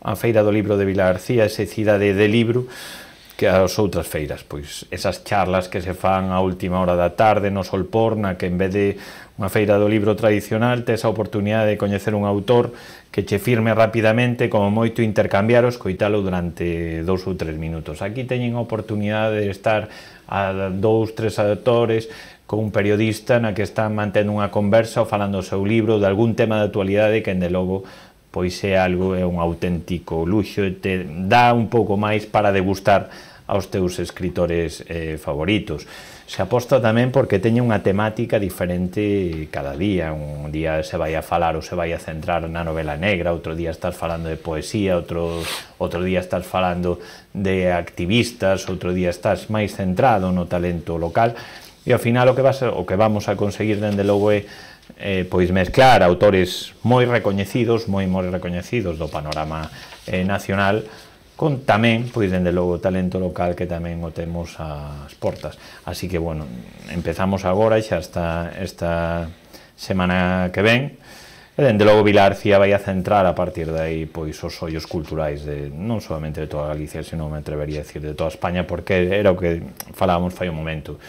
a Feira do Libro de Vilagarcía, esa cidade de libro, que as outras feiras, pois esas charlas que se fan a última hora da tarde no Solporna, que en vez de unha feira do libro tradicional tes a oportunidade de coñecer un autor que che firme rapidamente, como moito intercambiar o escoitalo durante dous ou tres minutos. Aquí teñen a oportunidade de estar a dous, tres autores con un periodista na que están mantendo unha conversa ou falando o seu libro de algún tema de actualidade que, de logo, pois é algo, é un auténtico luxo e te dá un pouco máis para degustar aos teus escritores eh, favoritos. Se aposta tamén porque teña unha temática diferente cada día. Un día se vai a falar ou se vai a centrar na novela negra, outro día estás falando de poesía, outro, outro día estás falando de activistas, outro día estás máis centrado no talento local, e ao final o que, vas a, o que vamos a conseguir, dende logo, é eh, pois mezclar autores moi recoñecidos, moi moi recoñecidos do panorama eh, nacional, con tamén, pois, dende logo, talento local que tamén o temos ás portas. Así que, bueno, empezamos agora, xa está esta semana que ven, e dende logo Vilagarcía vai a centrar a partir de aí, pois, os ollos culturais de, non solamente de toda Galicia, sino me atrevería a decir de toda España, porque era o que falábamos fai un momento.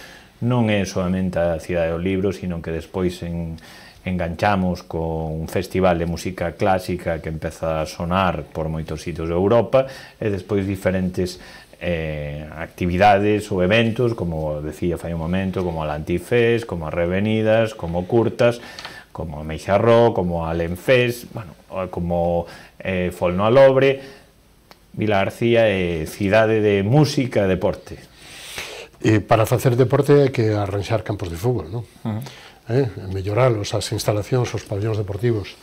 Non é solamente a Cidade do Libro, sino que despois en enganchamos con un festival de música clásica que empeza a sonar por moitos sitios de Europa, e despois diferentes eh, actividades ou eventos, como decía fai un momento, como a Lantifest, como a Revenidas, como Curtas, como a Meixarró, como a Lenfest, bueno, como eh, Folno a Lobre. Vilagarcía é cidade de música e deporte. E para facer deporte hai que arranxar campos de fútbol, non? Uh -huh. Eh, melloralos, as instalacións, os pabellóns deportivos.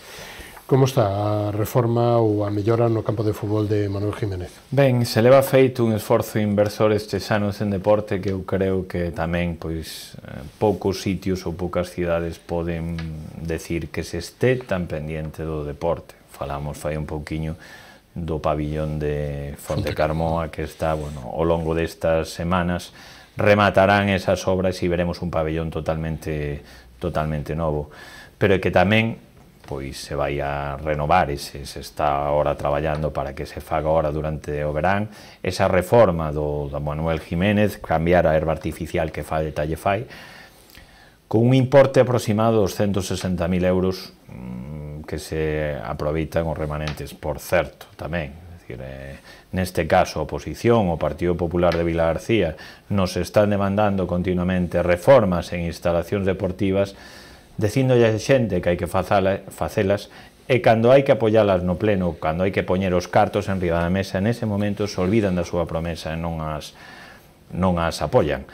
Como está a reforma ou a mellora no campo de fútbol de Manuel Jiménez? Ben, se leva feito un esforzo inversor estes anos en deporte que eu creo que tamén, pois, poucos sitios ou poucas cidades poden decir que se este tan pendiente do deporte. Falamos fai un pouquiño do pabillón de Fontecarmoa, que está, bueno, ao longo destas semanas rematarán esas obras e veremos un pabellón totalmente totalmente novo, pero que tamén, pois, se vai a renovar e se, se está agora traballando para que se faga agora durante o verán esa reforma do, do Manuel Jiménez, cambiar a herba artificial que fai detalle fai, con un importe aproximado dos ciento sesenta mil euros mmm, que se aproveitan os remanentes, por certo, tamén. Eh, neste caso, a oposición, o Partido Popular de Vilagarcía, nos están demandando continuamente reformas en instalacións deportivas, dicíndolle a xente que hai que facelas, e cando hai que apoialas no pleno, cando hai que poñer os cartos en riba da mesa, en ese momento se olvidan da súa promesa e non as, non as apoian.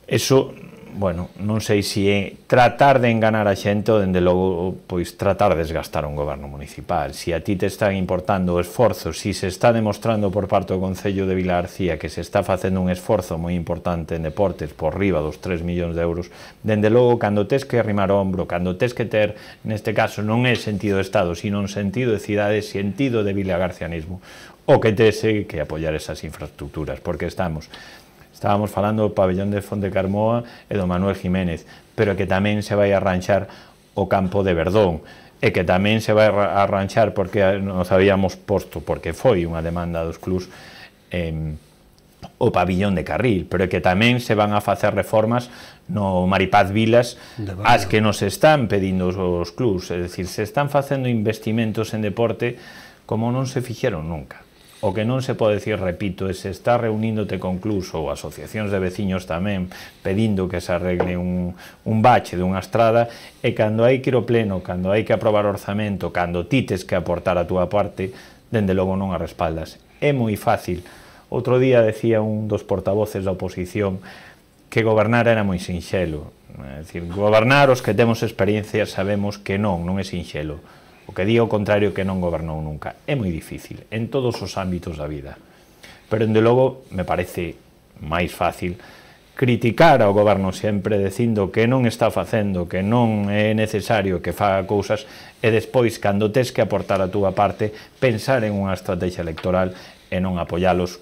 Eso, bueno, non sei se é tratar de enganar a xente ou, dende logo, pois tratar de desgastar un goberno municipal. Se a ti te están importando o esforzo, se se está demostrando por parte do Concello de Vilagarcía que se está facendo un esforzo moi importante en deportes por riba dos tres millóns de euros, dende logo, cando tes que arrimar o ombro, cando tes que ter, neste caso, non é sentido de Estado, sino un sentido de cidade, sentido de vilagarcianismo, o que tes que apoiar esas infraestructuras, porque estamos... Estábamos falando do pabellón de Fontecarmoa e do Manuel Jiménez, pero que tamén se vai arranxar o campo de Verdón, e que tamén se vai arranxar porque nos habíamos posto, porque foi unha demanda dos clubs, eh, o pabillón de Carril, pero que tamén se van a facer reformas no Maripaz Vilas, as que nos están pedindo os clubs, é dicir, se están facendo investimentos en deporte como non se fixeron nunca. o que non se pode decir, repito, é se está reuníndote con clubs ou asociacións de veciños tamén pedindo que se arregle un, un bache dunha estrada, e cando hai que ir ao pleno, cando hai que aprobar orzamento, cando ti tes que aportar a túa parte, dende logo non a respaldas. É moi fácil. Outro día decía un dos portavoces da oposición que gobernar era moi sinxelo. É dicir, gobernar, os que temos experiencia sabemos que non, non é sinxelo. O que di o contrario que non gobernou nunca. É moi difícil, en todos os ámbitos da vida. Pero, dende logo, me parece máis fácil criticar ao goberno sempre dicindo que non está facendo, que non é necesario que faga cousas, e despois, cando tes que aportar a túa parte, pensar en unha estrategia electoral e non apoialos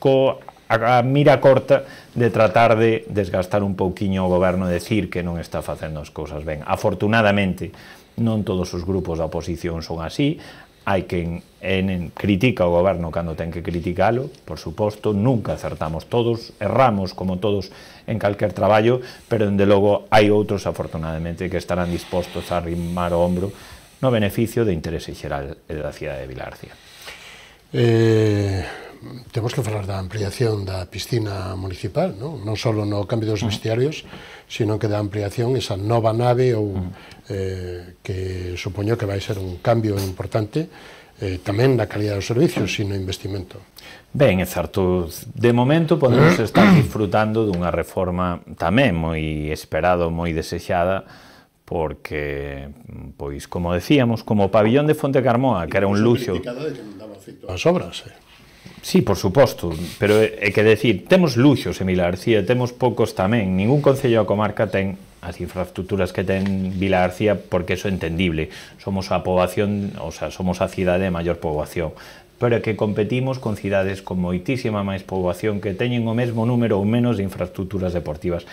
co a mira corta de tratar de desgastar un pouquiño o goberno e decir que non está facendo as cousas ben. Afortunadamente, non todos os grupos da oposición son así, hai quen en, critica o goberno cando ten que criticalo, por suposto, nunca acertamos todos, erramos como todos en calquer traballo, pero dende logo hai outros, afortunadamente, que estarán dispostos a arrimar o ombro no beneficio de interese xeral da cidade de Vilarcía. Eh, temos que falar da ampliación da piscina municipal, non, non só no cambio dos vestiarios, sino que da ampliación esa nova nave ou eh, que supoño que vai ser un cambio importante eh, tamén na calidad dos servicios, sino investimento. Ben, é certo, de momento podemos estar disfrutando dunha reforma tamén moi esperada, moi desexada, porque, pois, como decíamos, como o pabillón de Fonte Carmoa, que era un luxo... criticada de que non daba feito as obras, eh? Sí, por suposto, pero é que decir, temos luxos en Vilagarcía, temos poucos tamén, ningún concello da comarca ten as infraestructuras que ten Vilagarcía, porque eso é entendible, somos a poboación, o sea, somos a cidade de maior poboación, pero é que competimos con cidades con moitísima máis poboación que teñen o mesmo número ou menos de infraestructuras deportivas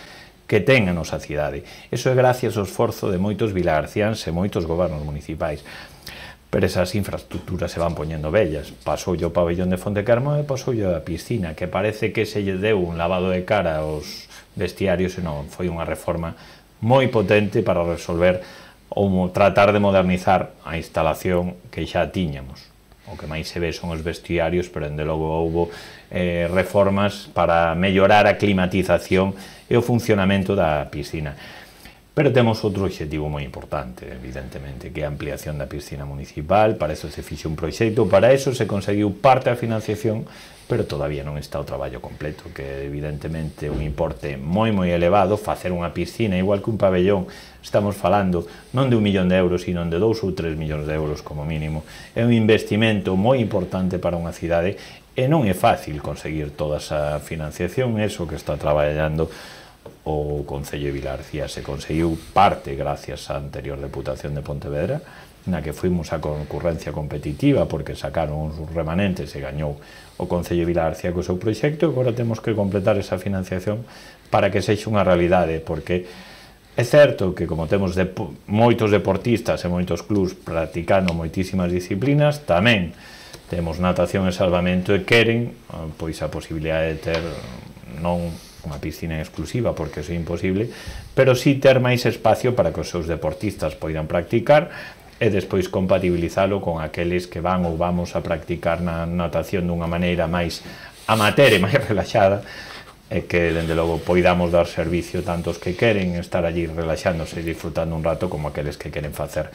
que ten a nosa cidade. Eso é gracias ao esforzo de moitos vilagarciáns e moitos gobernos municipais. Pero esas infraestructuras se van poñendo bellas. Pasoulle o pabellón de Fonte Carmoa e pasoulle a piscina, que parece que se lle deu un lavado de cara aos vestiarios, e non, foi unha reforma moi potente para resolver ou tratar de modernizar a instalación que xa tiñamos. O que máis se ve son os vestiarios, pero dende logo houbo eh, reformas para mellorar a climatización e o funcionamento da piscina. Pero temos outro obxectivo moi importante, evidentemente, que é a ampliación da piscina municipal. Para eso se fixe un proxecto, para eso se conseguiu parte da financiación, pero todavía non está o traballo completo, que evidentemente é un importe moi moi elevado. Facer unha piscina, igual que un pabellón, estamos falando non de un millón de euros, sino de dous ou tres millóns de euros como mínimo. É un investimento moi importante para unha cidade e non é fácil conseguir toda esa financiación. Eso que está traballando o Concello de Vilagarcía se conseguiu parte gracias á anterior Deputación de Pontevedra, na que fuimos a concurrencia competitiva porque sacaron uns remanentes e gañou o Concello de Vilagarcía co seu proxecto, e agora temos que completar esa financiación para que sexa unha realidade, porque é certo que como temos de, moitos deportistas e moitos clubs practicando moitísimas disciplinas, tamén temos natación e salvamento e queren pois a posibilidade de ter non unha piscina exclusiva, porque iso é imposible, pero sí ter máis espacio para que os seus deportistas poidan practicar e despois compatibilizalo con aqueles que van ou vamos a practicar na natación dunha maneira máis amateur e máis relaxada, e que, dende logo, poidamos dar servicio tanto os que queren estar allí relaxándose e disfrutando un rato como aqueles que queren facer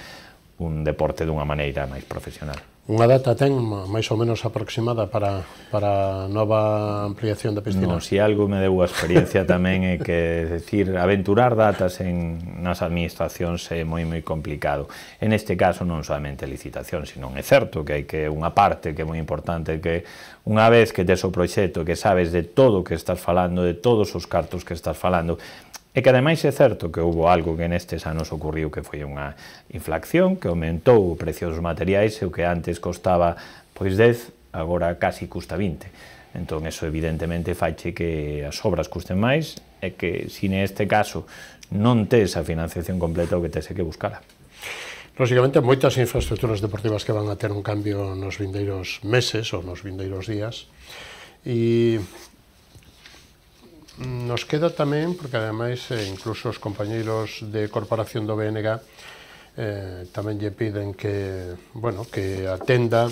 un deporte dunha maneira máis profesional. Unha data ten máis ou menos aproximada para, para a nova ampliación da piscina? Non, se algo me deu a experiencia tamén é que, decir, aventurar datas en nas administracións é moi moi complicado. En este caso non solamente licitación, sino é certo que hai que unha parte que é moi importante, que unha vez que tes o proxecto, que sabes de todo o que estás falando, de todos os cartos que estás falando, e que ademais é certo que houve algo que nestes anos ocurriu, que foi unha inflación que aumentou o precio dos materiais, e o que antes costaba pois dez, agora casi custa vinte. Entón, eso evidentemente faiche que as obras custen máis, e que, se neste caso non tes a financiación completa, o que tes é que buscala. Lóxicamente, moitas infraestructuras deportivas que van a ter un cambio nos vindeiros meses ou nos vindeiros días, e nos queda tamén, porque ademais eh, incluso os compañeiros de Corporación do B N G eh, tamén lle piden que, bueno, que atenda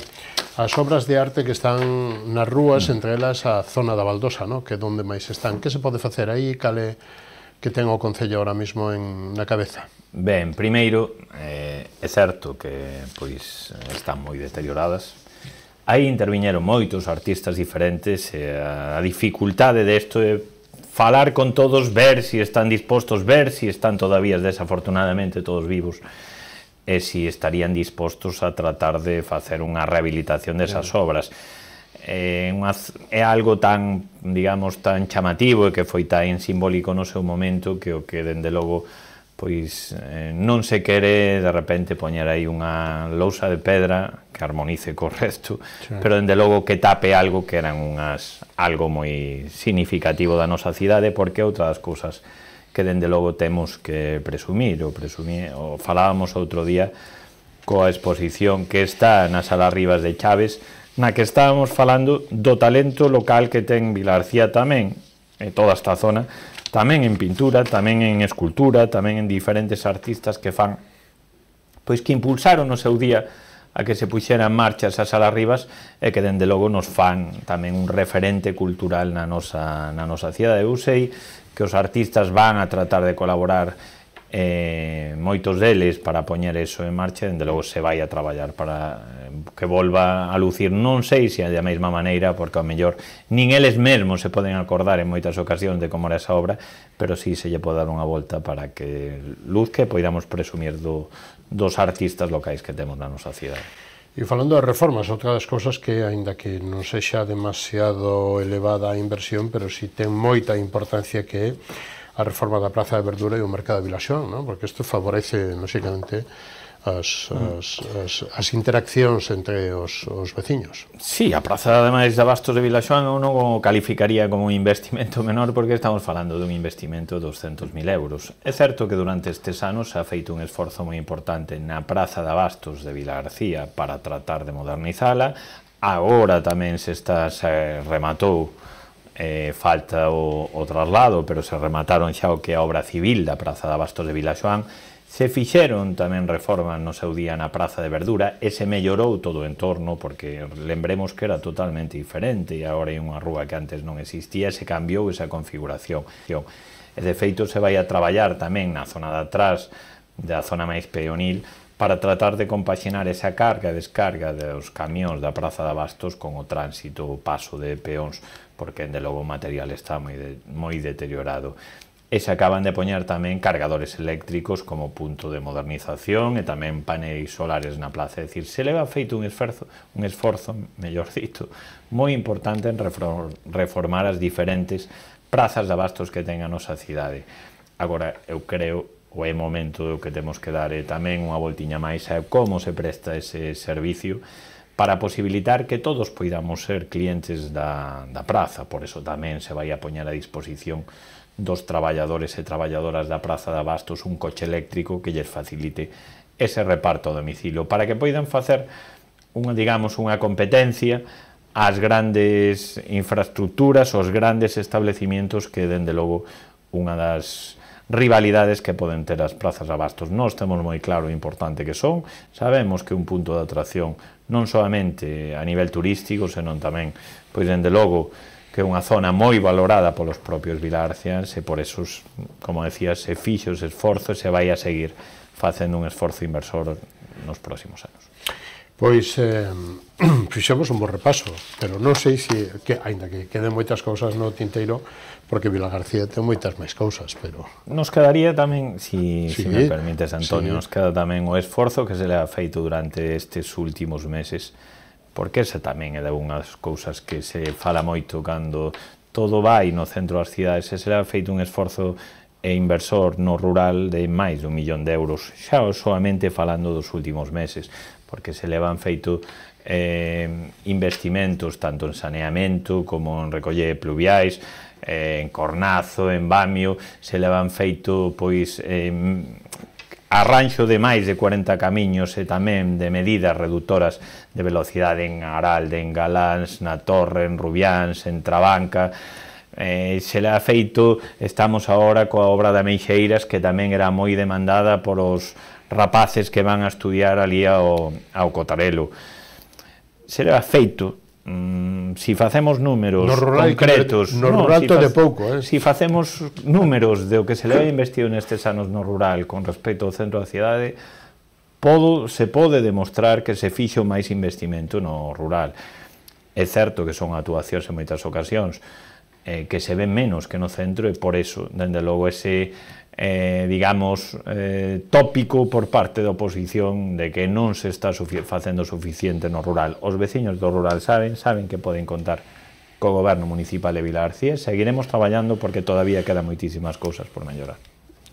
as obras de arte que están nas rúas, entre elas a zona da Baldosa, no? Que é onde máis están. Que se pode facer aí? Cale que ten o Concello ahora mismo en, na cabeza? Ben, primeiro, eh, é certo que pois están moi deterioradas. Aí interviñeron moitos artistas diferentes e a, a dificultade desto é falar con todos, ver si están dispostos, ver si están todavía desafortunadamente todos vivos e si estarían dispostos a tratar de facer unha rehabilitación desas obras. É, unha, é algo tan, digamos, tan chamativo e que foi tan simbólico no seu momento que o que, dende logo, pois eh, non se quere de repente poñer aí unha lousa de pedra que armonice co resto, sí. Pero dende logo que tape algo que eran unhas algo moi significativo da nosa cidade, porque outra das cousas que dende logo temos que presumir, ou presumir, ou falábamos outro día coa exposición que está na Sala Rivas de Chaves, na que estábamos falando do talento local que ten Vilagarcía tamén, e toda esta zona, tamén en pintura, tamén en escultura, tamén en diferentes artistas que fan, pois que impulsaron no seu día a que se puxeran marchas a Sala Rivas e que dende logo nos fan tamén un referente cultural na nosa, na nosa cidade. Eu sei que os artistas van a tratar de colaborar eh, moitos deles para poñer eso en marcha e dende logo se vai a traballar para eh, que volva a lucir, non sei se é da mesma maneira, porque ao mellor nin eles mesmos se poden acordar en moitas ocasións de como era esa obra, pero sí se lle pode dar unha volta para que luzque e poidamos presumir do, dos artistas locais que temos na nosa cidade. E falando de reformas, outra das cousas que, aínda que non sexa demasiado elevada a inversión, pero si ten moita importancia, que é a reforma da Praza de Verdura e o Mercado de Vilaxoán, ¿no? Porque isto favorece, lógicamente, as, as, as, as interaccións entre os, os veciños. Sí, a Praza, ademais, de Abastos de Vilaxoán eu non o calificaría como un investimento menor, porque estamos falando dun investimento de doscentos mil euros. É certo que durante estes anos se ha feito un esforzo moi importante na Praza de Abastos de Vilagarcía para tratar de modernizala. Agora tamén se está, se rematou, Eh, falta o, o traslado, pero se remataron xa o que é a obra civil da Praza de Abastos de Vilaxoán. Se fixeron tamén reformas no seu día na Praza de Verdura e se mellorou todo o entorno, porque lembremos que era totalmente diferente e agora hai unha rúa que antes non existía e se cambiou esa configuración. E de feito se vai a traballar tamén na zona de atrás, da zona máis peonil, para tratar de compaxinar esa carga e descarga dos camións da Praza de Abastos con o tránsito, o paso de peóns, porque de logo o material está moi, de, moi deteriorado. E se acaban de poñer tamén cargadores eléctricos como punto de modernización e tamén paneis solares na plaza. É dicir, se leva feito un esforzo, un esforzo, mellor dito, moi importante en reformar as diferentes prazas de abastos que ten a nosa cidade. Agora, eu creo o é momento do que temos que dar e tamén unha voltiña máis a como se presta ese servicio para posibilitar que todos poidamos ser clientes da, da praza. Por eso tamén se vai a poñer a disposición dos traballadores e traballadoras da Praza de Abastos un coche eléctrico que lles facilite ese reparto a domicilio, para que poidan facer unha, digamos, unha competencia ás grandes infraestructuras, aos grandes establecimientos que, dende logo, unha das rivalidades que poden ter as prazas de abastos. Nós temos moi claro o importante que son, sabemos que un punto de atracción non solamente a nivel turístico, senón tamén, pois, dende logo, que é unha zona moi valorada polos propios vilagarciáns e por eso, como decía, se fixo ese esforzo e se vai a seguir facendo un esforzo inversor nos próximos anos. Pois eh, fixemos un bo repaso, pero non sei se, que, ainda que queden moitas cousas no tinteiro, porque Vilagarcía ten moitas máis cousas, pero... Nos quedaría tamén, si, sí, si me permites, Antonio, sí. Nos queda tamén o esforzo que se le ha feito durante estes últimos meses, porque esa tamén é de unhas cousas que se fala moito cando todo vai no centro das cidades, e se le ha feito un esforzo e inversor no rural de máis de un millón de euros, xa solamente falando dos últimos meses, porque se le van feito eh, investimentos tanto en saneamento como en recolle pluviais, eh, en Cornazo, en Bamio, se le van feito pois eh, arranxo de máis de cuarenta camiños e tamén de medidas reductoras de velocidade en Aralde, en Galáns, na Torre, en Rubiáns, en Trabanca. Eh, se le ha feito, estamos agora coa obra de Meixeiras, que tamén era moi demandada polos rapaces que van a estudiar ali ao, ao Cotarelo. se leva feito. Mm, si facemos números no rural, concretos, no, no rural si todo de pouco, eh? Si facemos números de o que se leva investido nestes anos no rural con respecto ao centro da cidade, podo, se pode demostrar que se fixo máis investimento no rural. É certo que son actuacións en moitas ocasións eh, que se ven menos que no centro, e por eso, dende logo, ese Eh, digamos, eh, tópico por parte da oposición de que non se está sufi facendo suficiente no rural. Os veciños do rural saben, saben que poden contar co goberno municipal de Vilagarcía. Seguiremos traballando porque todavía quedan moitísimas cousas por mellorar.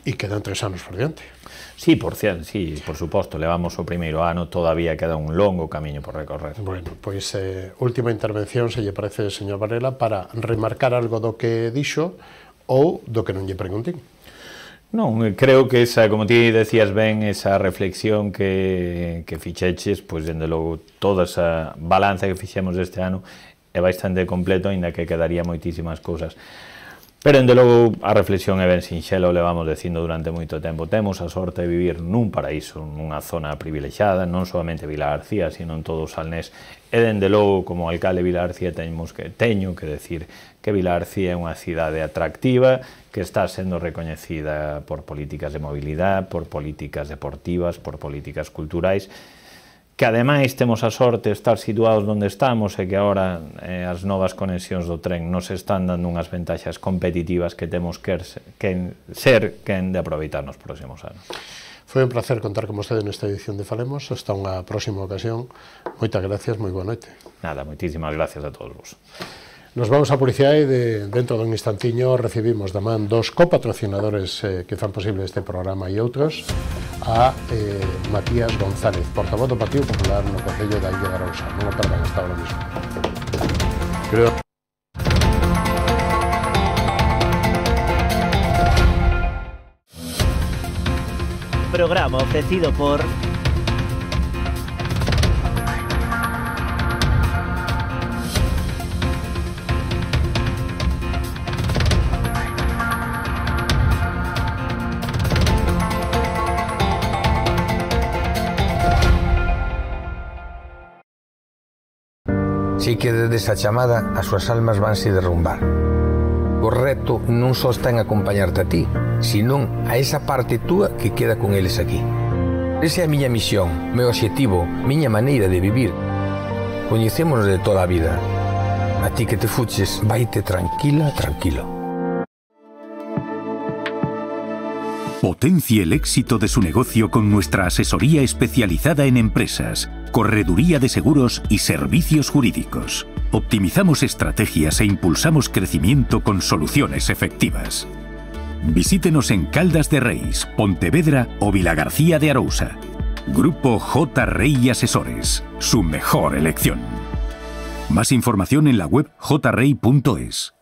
E quedan tres anos por diante. Sí, por cierto, sí, por suposto, levamos o primeiro ano, todavía queda un longo camiño por recorrer. Bueno, pois, eh, última intervención, se lle parece, señor Varela, para remarcar algo do que dixo ou do que non lle preguntín. Non, creo que esa, como ti decías ben, esa reflexión que, que fixeches, pois, dende logo, toda esa balanza que fixemos este ano é bastante completo, aínda que quedaría moitísimas cousas. Pero, dende logo, a reflexión é ben sinxela, o levamos dicindo durante moito tempo. Temos a sorte de vivir nun paraíso, nunha zona privilexiada, non solamente Vilagarcía, sino en todo o Salnés. E, dende logo, como alcalde de Vilagarcía, teño que, teño que decir que Vilagarcía é unha cidade atractiva, que está sendo recoñecida por políticas de mobilidade, por políticas deportivas, por políticas culturais, que ademais temos a sorte de estar situados onde estamos e que agora eh, as novas conexións do tren nos están dando unhas ventaxas competitivas que temos que, que ser quen de aproveitar nos próximos anos. Foi un placer contar con vostede nesta edición de Falemos. Hasta unha próxima ocasión. Moitas gracias, moi boa noite. Nada, moitísimas gracias a todos vos. Nos vamos a publicidade e de, dentro dun instantiño recibimos da man dos copatrocinadores eh, que fan posible este programa e outros, a eh, Matías González, portavoz do Partido Popular no Concello da Illa de Arousa. Non o perdan, hasta ahora mismo. Creo... Programa ofrecido por Si que desde esa chamada as súas almas vanse derrumbar. O reto non só está en acompañarte a ti, senón a esa parte túa que queda con eles aquí. Esa é a miña misión, meu obxectivo, miña maneira de vivir. Coñecémonos de toda a vida. A ti que te fuches, vaite tranquila, tranquilo. Potencie el éxito de su negocio con nuestra asesoría especializada en empresas, correduría de seguros y servicios jurídicos. Optimizamos estrategias e impulsamos crecimiento con soluciones efectivas. Visítenos en Caldas de Reis, Pontevedra o Vilagarcía de Arousa. Grupo J. Rey Asesores, su mejor elección. Más información en la web j rey punto es.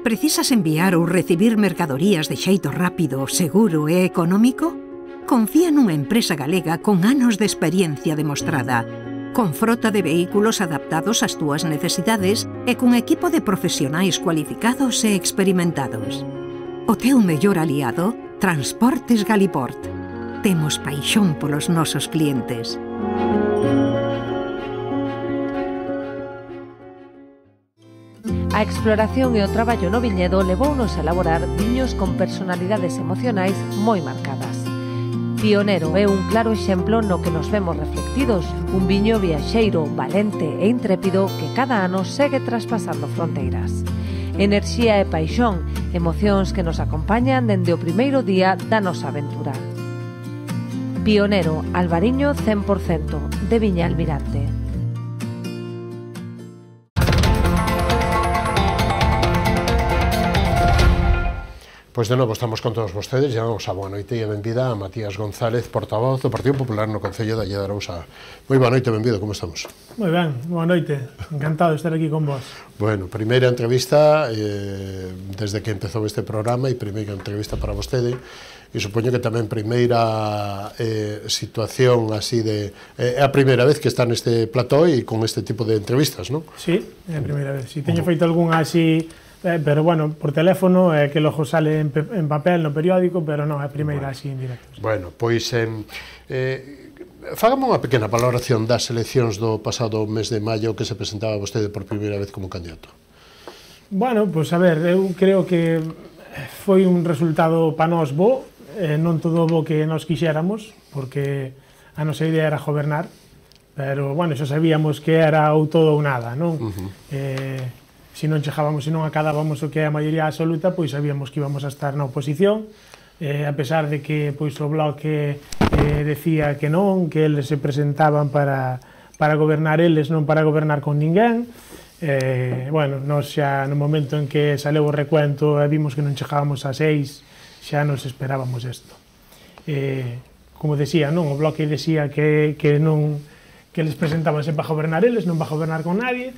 Precisas enviar ou recibir mercadorías de xeito rápido, seguro e económico? Confía nunha empresa galega con anos de experiencia demostrada, con frota de vehículos adaptados ás túas necesidades e con equipo de profesionais cualificados e experimentados. O teu mellor aliado, Transportes Galiport. Temos paixón polos nosos clientes. A exploración e o traballo no viñedo levounos a elaborar viños con personalidades emocionais moi marcadas. Pionero é un claro exemplo no que nos vemos reflectidos, un viño viaxeiro, valente e intrépido que cada ano segue traspasando fronteiras. Enerxía e paixón, emocións que nos acompañan dende o primeiro día da nosa aventura. Pionero, Albariño cen por cento, de Viña Almirante. Pois de novo estamos con todos vostedes, llamamos a boa noite e benvida a Matías González, portavoz do Partido Popular no Concello da Illa de Arousa. Moi boa noite, benvido, como estamos? Moi ben, boa noite, encantado de estar aquí con vos. Bueno, primeira entrevista eh, desde que empezou este programa e primeira entrevista para vostede e supoño que tamén primeira eh, situación así de... É eh, a primeira vez que está neste plató e con este tipo de entrevistas, non? Sí, é a primeira vez. Si teño feito algunha así... Eh, pero bueno, por teléfono, eh, que logo sale en, en papel no periódico, pero non, é a primeira bueno. así en directo. Bueno, pois eh, eh, Fágame unha pequena valoración das eleccións do pasado mes de maio que se presentaba vostede por primeira vez como candidato. Bueno, pois a ver, eu creo que foi un resultado pa nós bo, eh, non todo bo que nos quixéramos, porque a nosa idea era gobernar, pero, bueno, xa sabíamos que era ou todo ou nada, non? Uh -huh. eh, se non chegábamos, se non acadábamos o que é a maioría absoluta, pois sabíamos que íbamos a estar na oposición, eh, a pesar de que pois o Bloque eh, decía que non, que eles se presentaban para, para gobernar eles, non para gobernar con ninguén. Eh, bueno, nós xa no momento en que saleu o recuento e vimos que non chegábamos a seis, xa nos esperábamos isto. Eh, como decía, non, o Bloque decía que, que non, que eles presentábanse para gobernar eles, non para gobernar con nadie,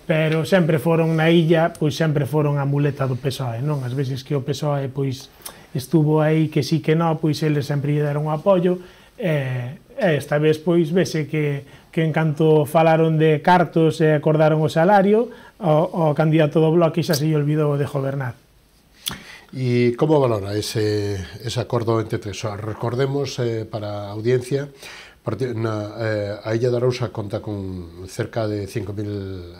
pero sempre foron na illa, pois sempre foron a muleta do P S O E, non? As veces que o P S O E pois estuvo aí que sí que non, pois eles sempre lle deron o apoio, e, e esta vez pois vese que, que en canto falaron de cartos e acordaron o salario, o, o candidato do Bloque xa se lle olvidou de gobernar. E como valora ese, ese acordo entre tres? Recordemos eh, para a audiencia, na, eh, a Illa de Arousa conta con cerca de cinco mil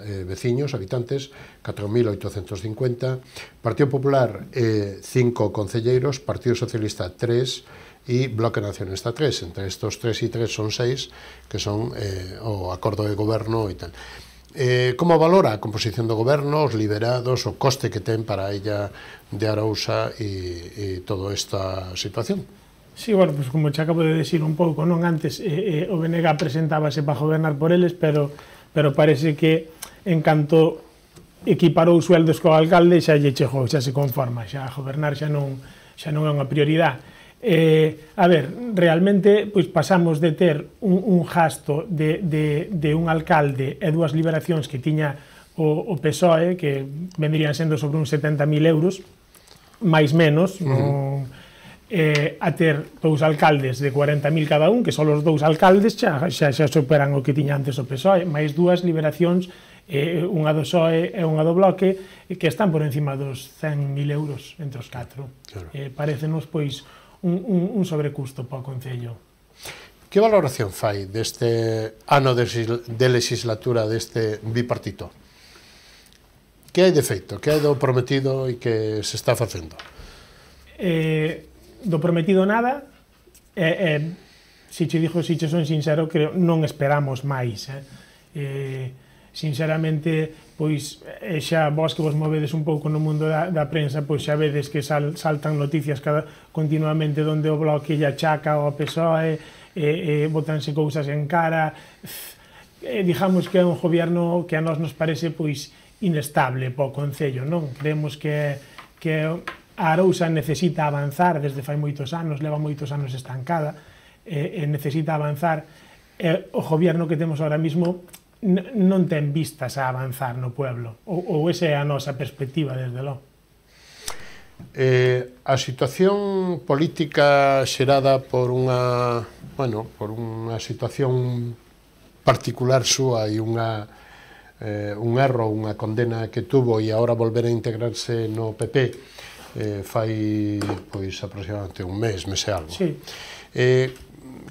eh, veciños, habitantes, catro mil oitocentos cincuenta, Partido Popular eh, cinco concelleiros, Partido Socialista tres e Bloque Nacionalista tres. Entre estos tres e tres son seis, que son eh, o acordo de goberno e tal. Eh, como valora a composición do goberno, os liberados, o coste que ten para a Illa de Arousa e, e toda esta situación? Sí, bueno, pues como te acabo de decir un pouco, non antes eh, eh, o B N G presentábase para gobernar por eles, pero, pero parece que en canto equiparou sueldos co alcalde xa lle chegou, xa se conforma, xa gobernar xa non, xa non é unha prioridade. Eh, a ver, realmente pois pasamos de ter un, un gasto de, de, de un alcalde e dúas liberacións que tiña o, o P S O E, que vendrían sendo sobre uns setenta mil euros, máis menos, uh -huh. non, eh, a ter dous alcaldes de cuarenta mil cada un, que son os dous alcaldes, xa, xa, xa superan o que tiña antes o P S O E, máis dúas liberacións, eh, unha do P S O E e unha do Bloque, que están por encima dos cen mil euros entre os catro. Claro. Eh, parecenos, pois, un, un, un sobrecusto para o Concello. Que valoración fai deste ano de, de legislatura deste bipartito? Que hai de feito? Que hai do prometido e que se está facendo? Eh, do prometido nada, e, eh, si che dixo, si che son sincero, creo, non esperamos máis. Eh. Eh, sinceramente, pois, eh, xa vos que vos movedes un pouco no mundo da, da prensa, pois xa vedes que sal, saltan noticias cada, continuamente donde o Bloque lle achaca ao P S O E, eh, eh, botanse cousas en cara, eh, digamos que é un gobierno que a nós nos parece, pois, inestable para o Concello, non? Creemos que, que a Arousa necesita avanzar desde fai moitos anos, leva moitos anos estancada, e, e necesita avanzar, e o gobierno que temos ahora mismo non ten vistas a avanzar no pueblo, ou, ou esa é a nosa perspectiva desde logo. Eh, a situación política xerada por unha, bueno, por unha situación particular súa e unha eh, un erro, unha condena que tuvo e agora volver a integrarse no P P eh, fai pois aproximadamente un mes, mes e algo. Sí. Eh,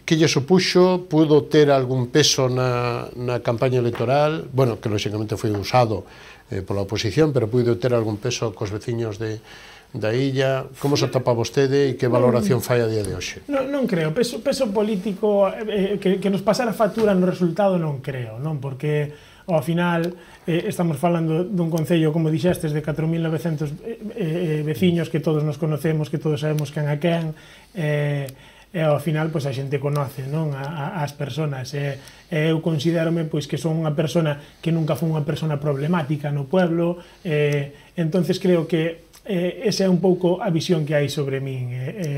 que lle supuxo, pudo ter algún peso na, na campaña electoral, bueno, que lóxicamente foi usado eh, pola oposición, pero pudo ter algún peso cos veciños de, da illa. Como se atopa vostede e que valoración fai a día de hoxe? Non, non creo, peso, peso político eh, que, que nos pasara factura no resultado non creo, non, porque ao final eh, estamos falando dun concello, como dixestes, de catro mil novecentos eh, eh, veciños que todos nos conocemos, que todos sabemos quen a quen, eh, e ao final pois, a xente conoce, non, a, a, as persoas, e, e eu considérome pois, que son unha persona que nunca foi unha persona problemática no pueblo, e, entonces creo que eh, esa é un pouco a visión que hai sobre min. E, e,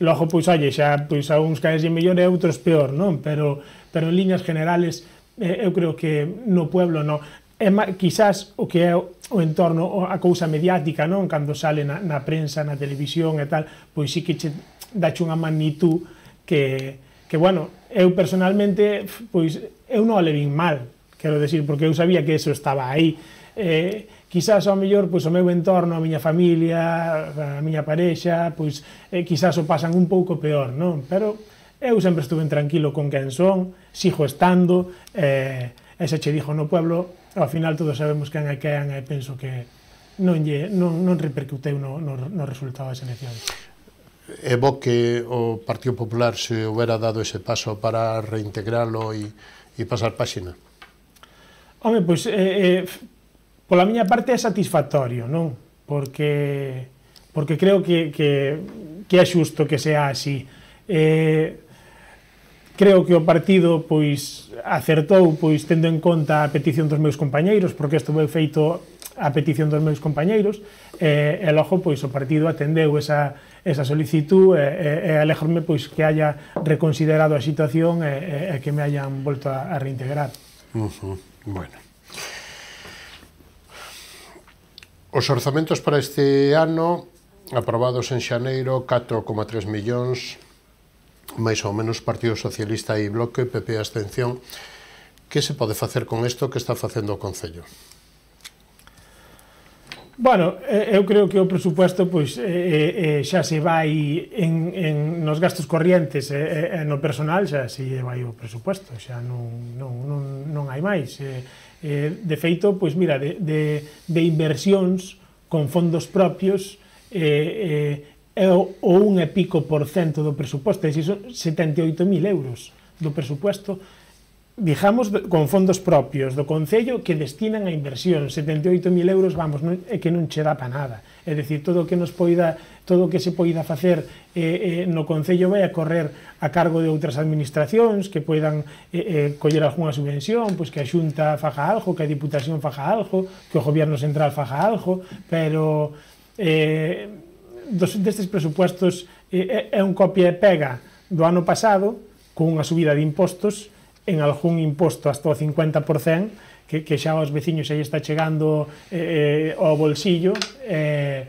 logo, pois, oye, xa pois, a uns caes mellor e a outros peor, non? Pero, pero en líneas generales, eh, eu creo que no pueblo, no, é quizás o que é o entorno, a cousa mediática, non? Cando sale na, na prensa, na televisión e tal, pois sí que che dache unha magnitud que, que, bueno, eu personalmente, pois, eu non o levín mal, quero decir, porque eu sabía que eso estaba aí. Eh, quizás ao mellor, pois, o meu entorno, a miña familia, a miña parexa, pois, eh, quizás o pasan un pouco peor, non? Pero Eu sempre estuve tranquilo con quen son, sigo estando, e eh, se che dixo no pueblo, ao final todos sabemos quen é quen, e penso que non, lle, non, non repercuteu no, no, no resultado das eleccións. É bo que o Partido Popular se houbera dado ese paso para reintegralo e, e pasar páxina? Home, pois, eh, eh, pola miña parte é satisfactorio, non? Porque, porque creo que, que, que é xusto que sea así. Eh, creo que o partido, pois, acertou, pois, tendo en conta a petición dos meus compañeiros, porque isto foi feito a petición dos meus compañeiros, e, e logo, pois, o partido atendeu esa esa solicitud, e, e, e alegrome pois que haya reconsiderado a situación e, e, e que me hayan volto a, a reintegrar. Uh-huh. Bueno. Os orzamentos para este ano aprobados en xaneiro, catro coma tres millóns, máis ou menos Partido Socialista e Bloque, P P abstención. Que se pode facer con isto que está facendo o Concello? Bueno, eu creo que o presupuesto pois, eh, eh, xa se vai en, en, nos gastos corrientes e eh, eh, no personal xa se vai o presupuesto, xa non, non, non, non hai máis. Eh, eh, de feito, pois mira, de, de, de inversións con fondos propios eh, eh, é o, o un e pico por cento do presupuesto, é dicir, son setenta e oito mil euros do presupuesto, digamos, con fondos propios do Concello que destinan a inversión. Setenta e oito mil euros, vamos, non, é que non che dá pa nada. É dicir, todo o que nos poida, todo o que se poida facer eh, eh, no Concello vai a correr a cargo de outras administracións que poidan eh, eh, coller algunha subvención, pois que a Xunta faja algo, que a Diputación faja algo, que o Goberno Central faja algo, pero eh, dos, destes presupuestos eh, é un copia e pega do ano pasado, con unha subida de impostos, en algún imposto hasta o cincuenta por cento, que, que xa aos veciños aí está chegando eh, ao bolsillo, e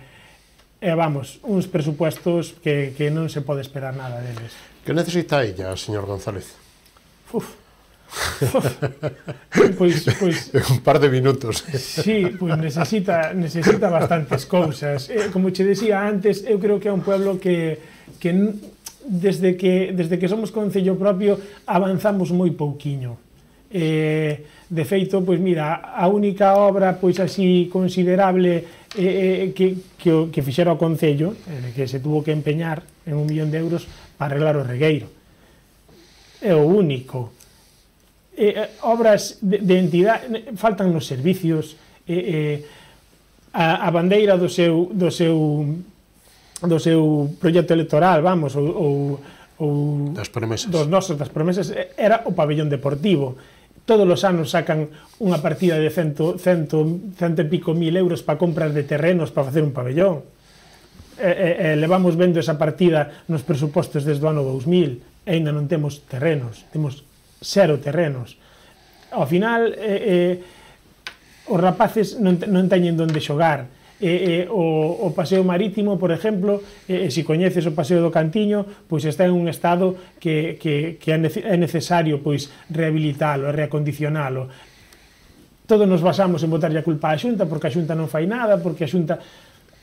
eh, eh, vamos, uns presupuestos que, que non se pode esperar nada deles. Que necesita ella, señor González? Uf, uf. Pois, pois, un par de minutos. Sí, pois necesita, necesita bastantes cousas. Eh, como che decía antes, eu creo que é un pueblo que, que Desde que, desde que somos concello propio avanzamos moi pouquiño. Eh, de feito, pois mira, a única obra pois así considerable eh, que, que, que fixera o concello, eh, que se tuvo que empeñar en un millón de euros para arreglar o regueiro. É o único. Eh, obras de, de entidade, faltan nos servicios, eh, eh, a, a bandeira do seu, do seu do seu proxecto electoral, vamos, ou, ou, ou das promesas. Dos nosos, das promesas, era o pabellón deportivo. Todos os anos sacan unha partida de cento, cento, cento e pico mil euros para compras de terrenos para facer un pabellón. E, e, e levamos vendo esa partida nos presupostos desde o ano dous mil, e ainda non temos terrenos, temos cero terrenos. Ao final, eh, eh, os rapaces non, non teñen donde xogar. Eh, eh, o, o paseo marítimo, por exemplo, eh, se coñeces o paseo do Cantiño, pois está en un estado que, que, que é necesario pois rehabilitalo e reacondicionalo. Todos nos basamos en botarlle a culpa á Xunta porque a Xunta non fai nada, porque a Xunta...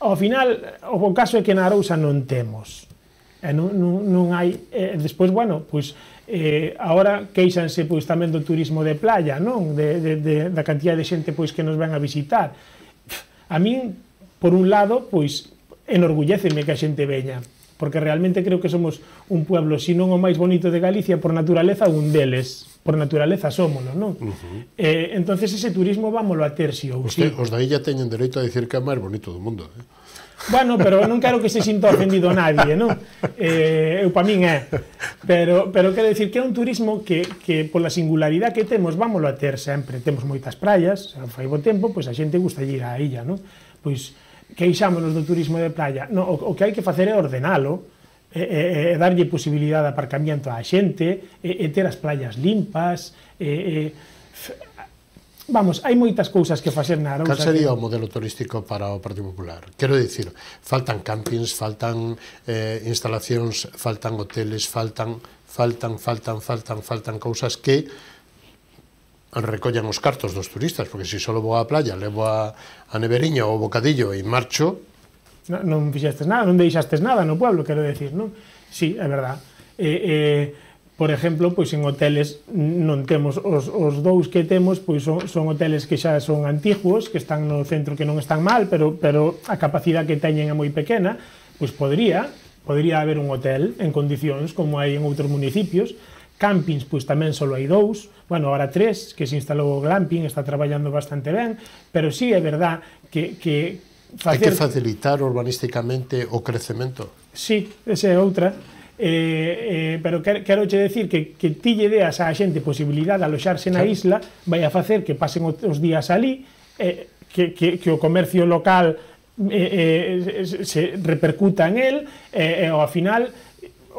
Ao final, o caso é que na Arousa non temos. E non, non, non hai... Eh, despois, bueno, pois... Eh, agora queixanse pois tamén do turismo de playa, non? De, de, de, da cantidad de xente pois que nos ven a visitar. A min, por un lado, pois, enorgulléceme que a xente veña, porque realmente creo que somos un pueblo, se non o máis bonito de Galicia, por naturaleza un deles, por naturaleza somolo, non? Uh-huh. eh, entonces ese turismo vámolo a ter, si ou si. Os da illa teñen dereito a dicir que é o máis bonito do mundo, eh? Bueno, pero non quero que se sinta ofendido nadie, non? Eh, eu pa min é. Pero, pero quero dicir que é un turismo que, que pola singularidade que temos, vámolo a ter sempre. Temos moitas praias, fai bo tempo, pois a xente gusta ir á illa, non? Pois queixámonos do turismo de playa. No, o, o que hai que facer é ordenalo, e, e, e darlle posibilidade de aparcamiento á xente, e, e ter as playas limpas, e, e vamos, hai moitas cousas que facer na Arousa. Cal sería que... o modelo turístico para o Partido Popular? Quero dicir, faltan campings, faltan eh, instalacións, faltan hoteles, faltan, faltan, faltan, faltan, faltan cousas que recollan os cartos dos turistas, porque se só vou á playa, levo a, a neveriña ou o bocadillo e marcho... Non, non fixestes nada, non deixastes nada no pueblo, quero decir, non? Sí, é verdad. eh, eh, por exemplo, pois en hoteles non temos os, os dous que temos, pois son, son hoteles que xa son antiguos, que están no centro, que non están mal, pero, pero a capacidade que teñen é moi pequena, pois podría, podría haber un hotel en condicións como hai en outros municipios. Campings, pois tamén só hai dous, bueno, agora tres, que se instalou o glamping, está traballando bastante ben, pero sí é verdad que, que facer... hai que facilitar urbanísticamente o crecemento. Sí, esa é outra. Eh, eh, pero quero, quero che decir que, que ti lle deas á xente posibilidade de aloxarse na isla, vai a facer que pasen os días ali, eh, que, que, que o comercio local eh, eh, se repercuta en el, e eh, ao final,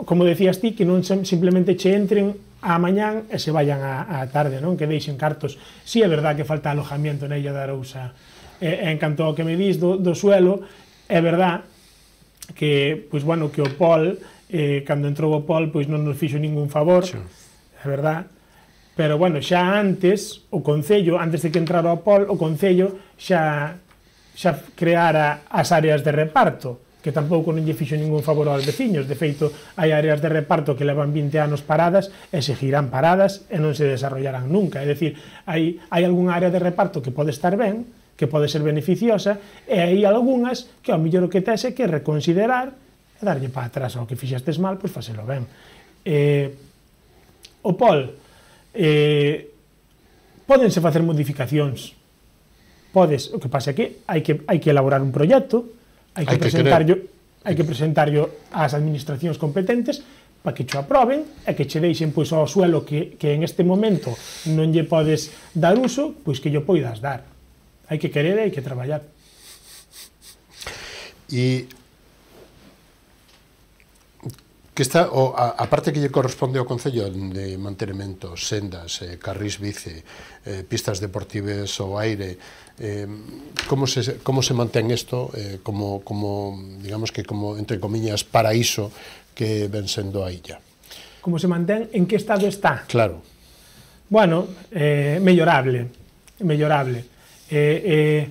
como decías ti, que non simplemente che entren á mañán e se vayan á tarde, non? Que deixen cartos. Si é verdad que falta alojamiento na Illa de Arousa, eh, en canto ao que me dis do, do suelo, é verdad que, pois, bueno, que o Pol, eh, cando entrou o Pol, pois non nos fixo ningún favor, sí. É verdad, pero, bueno, xa antes, o Concello, antes de que entrara o Pol, o Concello xa, xa creara as áreas de reparto, que tampouco non lle fixo ningún favor aos veciños. De feito, hai áreas de reparto que levan vinte anos paradas e seguirán paradas e non se desarrollarán nunca. É dicir, hai, hai algunha área de reparto que pode estar ben, que pode ser beneficiosa, e hai algunhas que ao mellor o que tes é que reconsiderar e darlle para atrás ao que fixestes mal, pois facelo ben. Eh, o Pol, eh, pódense facer modificacións, podes, o que pasa é que hai que, hai que elaborar un proxecto, hai que, presentarlo, hai que presentarlo ás administracións competentes para que cho aproben e que che deixen pois ao suelo que, que en este momento non lle podes dar uso, pois que lle poidas dar. Hai que querer e hai que traballar. E que está, o, a, a parte que lle corresponde ao Concello de mantenimento, sendas, eh, carrís bici, eh, pistas deportivas ao aire, eh, como, se, como se mantén isto eh, como, como, digamos que como, entre comillas, paraíso que ven sendo a illa? Como se mantén? En que estado está? Claro. Bueno, eh, mellorable, mellorable. Eh, eh,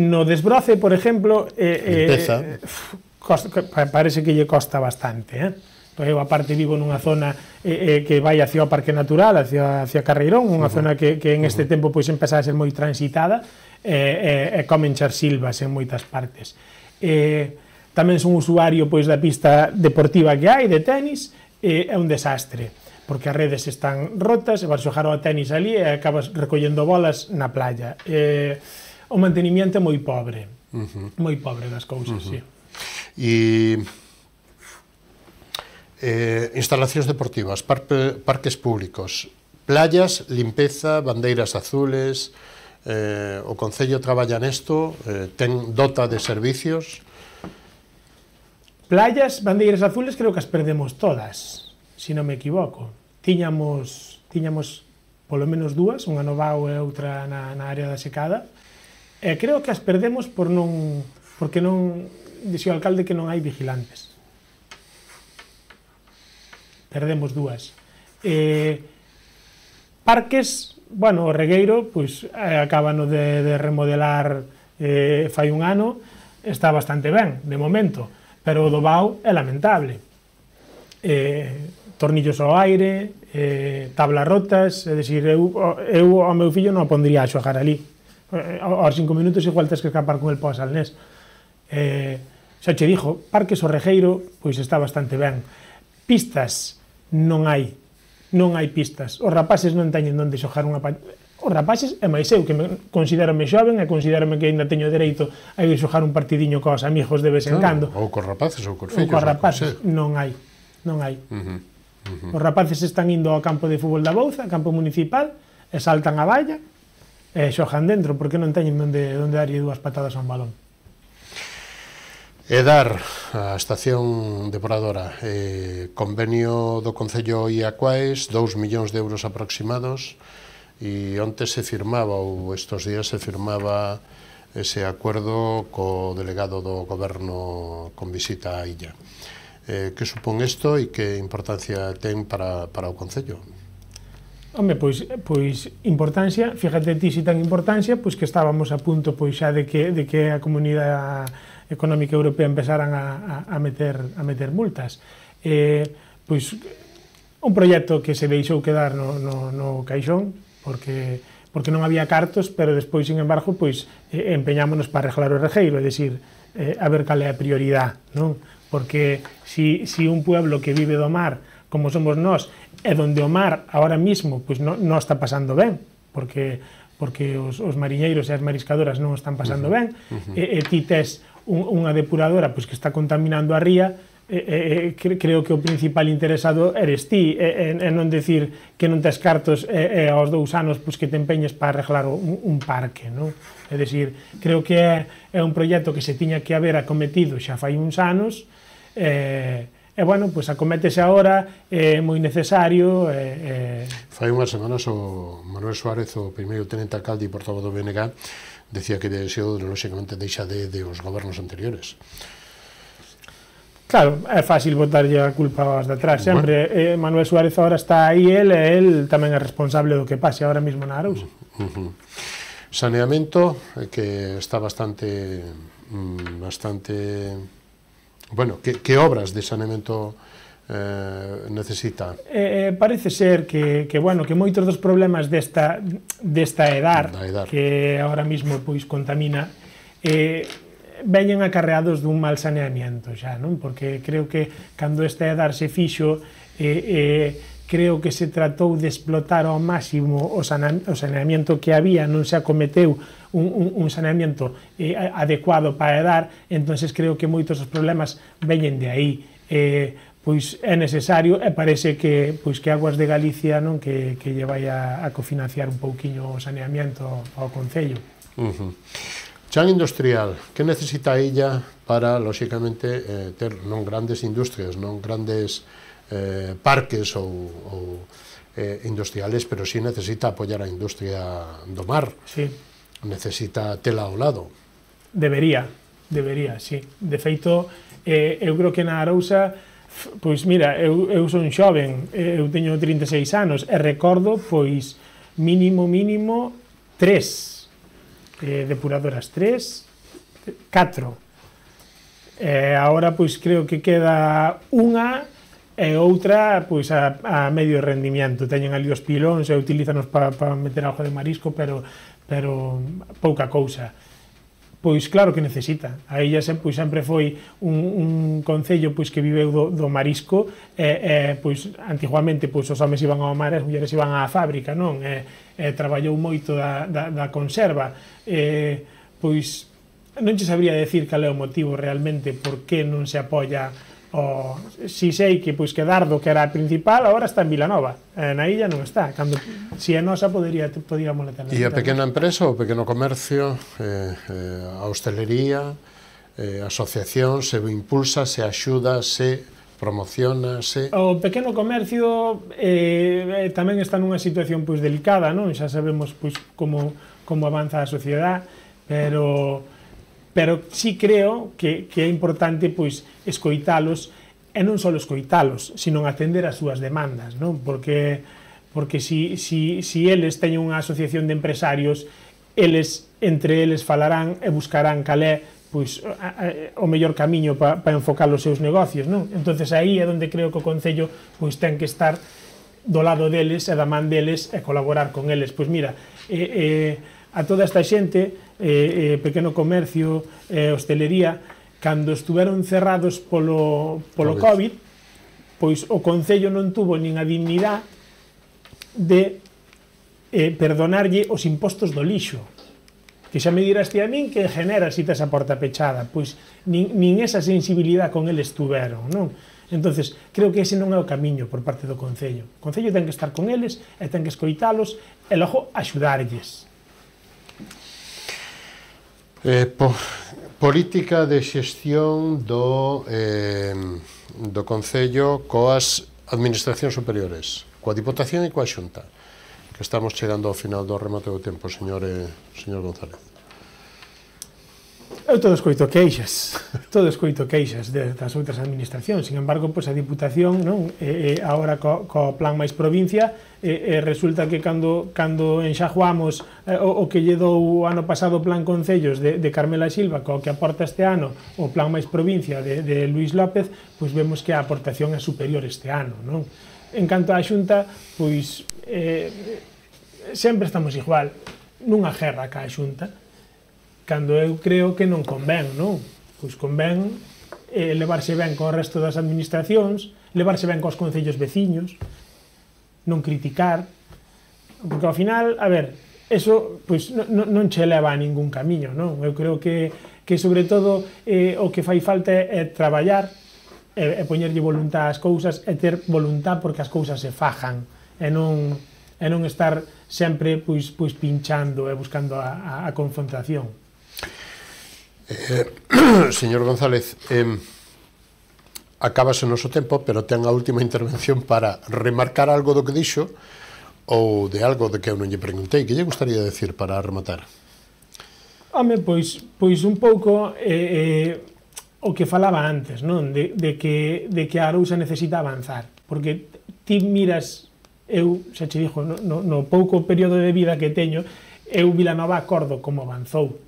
no desbroce, por exemplo, eh, Limpeza. Eh, Costa, parece que lle costa bastante, eh? Eu, aparte, vivo nunha zona eh, eh, que vai hacia o Parque Natural, hacia, hacia Carreirón, unha uh -huh. zona que, que en este uh -huh. tempo pois empeza a ser moi transitada, e eh, eh, comen charsilvas en moitas partes. Eh, tamén son usuario pois da pista deportiva que hai, de tenis, e eh, é un desastre, porque as redes están rotas, e vas xogar ao tenis ali e acabas recollendo bolas na playa. Eh, o mantenimiento é moi pobre, uh -huh. moi pobre das cousas, uh -huh. sí. E eh, instalacións deportivas, parque, parques públicos, playas, limpeza, bandeiras azules, eh, o Concello traballa nesto, eh, ten dota de servicios. Playas, bandeiras azules, creo que as perdemos todas, se non me equivoco. Tiñamos, tiñamos polo menos dúas, unha no Vao e outra na, na área da Secada, e creo que as perdemos por non, porque non... Dixe o alcalde que non hai vigilantes. Perdemos dúas. Eh, parques, bueno, o Regueiro, pois, eh, acabano de, de remodelar eh, fai un ano, está bastante ben, de momento, pero o do Vao é lamentable. Eh, tornillos ao aire, eh, tablas rotas, é dicir, eu, eu ao meu fillo non o pondría a xogar ali. Eh, aos cinco minutos igual tens que escapar con el para o Salnés. Eh, xa che dixo, parques o Regueiro, pois está bastante ben. Pistas, non hai, non hai pistas. Os rapaces non teñen onde xogar unha... Os rapaces, e máis eu, que me considerome xoven e considerome que ainda teño dereito a ir xogar un partidiño cos amigos de vez en cando. Ou cos rapaces ou cos fillos. Ou cos rapaces, non hai, non hai. Uh -huh, uh -huh. Os rapaces están indo ao campo de fútbol da Bouza, campo municipal, e saltan a valla, e xogan dentro, porque non teñen onde, onde darlle dúas patadas a un balón. E dar a estación depuradora, eh, convenio do Concello Iacuaes, dous millóns de euros aproximados, e onte se firmaba, ou estos días se firmaba ese acuerdo co delegado do goberno con visita á illa. Eh, que supón isto e que importancia ten para, para o Concello? Home, pois, pois importancia, fíjate ti si ten importancia, pois que estábamos a punto pois xa de que, de que a Comunidade Económica Europea empezaran a, a, a, meter, a meter multas. eh, pois, un proxecto que se deixou quedar no, no, no caixón, porque, porque non había cartos, pero despois, sin embargo, pois, eh, empeñámonos para arreglar o regueiro, é dicir, eh, a ver cal é a prioridade, non? Porque si, si un pueblo que vive do mar, como somos nós, é donde o mar, ahora mismo, pois non, non está pasando ben, porque, porque os, os mariñeiros e as mariscadoras non están pasando ben, uh -huh. e, e ti tes un, unha depuradora pois, que está contaminando a ría, e, e, creo que o principal interesado eres ti, e, e, e non decir que non tes cartos e, e aos dous anos pois, que te empeñes para arreglar un, un parque, non? É dicir, creo que é, é un proxecto que se tiña que haber acometido xa fai uns anos, e, e bueno, pois acométese agora, é moi necesario. E, e... Fai unhas semanas o Manuel Suárez, o primeiro tenente alcalde e portavoz do B N G, decía que deseo, lógicamente, deixa de, de os gobernos anteriores. Claro, é fácil botarlle a culpa aos de atrás, sempre. Bueno. Eh, Manuel Suárez agora está aí, el, e el tamén é responsable do que pase agora mesmo na Arousa. Uh -huh. Saneamento, que está bastante... bastante... Bueno, que, que obras de saneamento eh, necesita? Eh, parece ser que, que, bueno, que moitos dos problemas desta, desta edar, edar, que agora mesmo pois, contamina, eh, veñen acarreados dun mal saneamiento xa, non? Porque creo que cando esta edar se fixo, eh, eh, creo que se tratou de explotar ao máximo o saneamento que había, non se acometeu un, un, un saneamento eh, adecuado para a edar, entonces creo que moitos dos problemas veñen de aí. Eh, pois é necesario, e parece que pois que Aguas de Galicia non que, que lle vai a, a cofinanciar un pouquiño o saneamento ao Concello. Uh -huh. Chan industrial, que necesita ella para, lóxicamente, eh, ter non grandes industrias, non grandes eh, parques ou, ou eh, industriales, pero sí necesita apoiar a industria do mar. Sí. Necesita tela ao lado. Debería, debería, sí. De feito, eh, eu creo que na Arousa, pois mira, eu, eu son xoven, eu teño trinta e seis anos, e recordo, pois, mínimo, mínimo, tres eh, depuradoras, tres, catro. E agora, pois, creo que queda unha e outra, pois, a, a medio rendimiento. Teñen ali os pilóns e utilízanos para pa meter algo de marisco, pero, pero pouca cousa. Pois claro que necesita. A illa sempre, pois, sempre foi un, un concello pois, que viveu do, do marisco, e, e pois, antiguamente pois, os homes iban ao mar e as mulleres iban á fábrica, non? E, e traballou moito da, da, da conserva. E, pois, non che sabría decir cal é o motivo realmente por que non se apoia o... Si sei que, pois, que Dardo, que era a principal, agora está en Vilanova. Eh, na illa non está. Cando, si é nosa, podería, podíamos ter. E a pequena empresa, o pequeno comercio, eh, eh, a hostelería, eh, a asociación, se impulsa, se axuda, se promociona, se... O pequeno comercio eh, tamén está nunha situación pois delicada, non? Xa sabemos pois como, como avanza a sociedade, pero... pero sí creo que, que é importante pois escoitalos, e non só escoitalos, sino atender as súas demandas, non? Porque, porque si, si, si eles teñen unha asociación de empresarios, eles, entre eles falarán e buscarán cal é pois, a, a, o mellor camiño para pa enfocar os seus negocios, non? Entonces aí é onde creo que o Concello pois ten que estar do lado deles e da man deles e colaborar con eles. Pois mira, eh, eh, a toda esta xente, eh, eh, pequeno comercio, eh, hostelería, cando estuveron cerrados polo, polo COVID, pois o Concello non tuvo nin a dignidade de eh, perdonarlle os impostos do lixo. Que xa me dirás ti a min que genera si tes a porta pechada, pois nin, nin esa sensibilidade con eles tuveron, non? Entonces, creo que ese non é o camiño por parte do Concello. O Concello ten que estar con eles e ten que escoitalos e logo axudarlles. Eh, po, política de xestión do, eh, do Concello coas administracións superiores, coa Diputación e coa Xunta, que estamos chegando ao final do remate do tempo, señor, eh, señor González. Eu todo escoito queixas, todo escoito queixas das outras administracións. Sin embargo, pois a Diputación, non, e, e agora co, co plan máis provincia, e, e resulta que cando, cando enxajuamos eh, o, o que lle dou o ano pasado o plan Concellos de, de Carmela Silva, co que aporta este ano o plan máis provincia de, de Luís López, pois vemos que a aportación é superior este ano, non? En canto á Xunta, pois eh, sempre estamos igual, nunha guerra ca Xunta, cando eu creo que non convén, non? Pois convén eh, levarse ben co resto das administracións, levarse ben cos concellos veciños, non criticar, porque ao final, a ver, eso pois, non, non che leva a ningún camiño, non? Eu creo que, que sobre todo, eh, o que fai falta é, é traballar, e, e poñerlle voluntad ás cousas, e ter voluntad porque as cousas se fajan, e non, e non estar sempre pois, pois pinchando e buscando a, a, a confrontación. Eh, señor González, eh, acabase o noso tempo, pero ten a última intervención para remarcar algo do que dixo ou de algo de que eu non lle preguntei. Que lle gustaría decir para rematar? Home, pois, pois un pouco eh, eh, o que falaba antes, non? De, de, que, de que a Arousa necesita avanzar, porque ti miras, eu xa che dixo, no, no, no pouco período de vida que teño, eu Vilanova acordo como avanzou.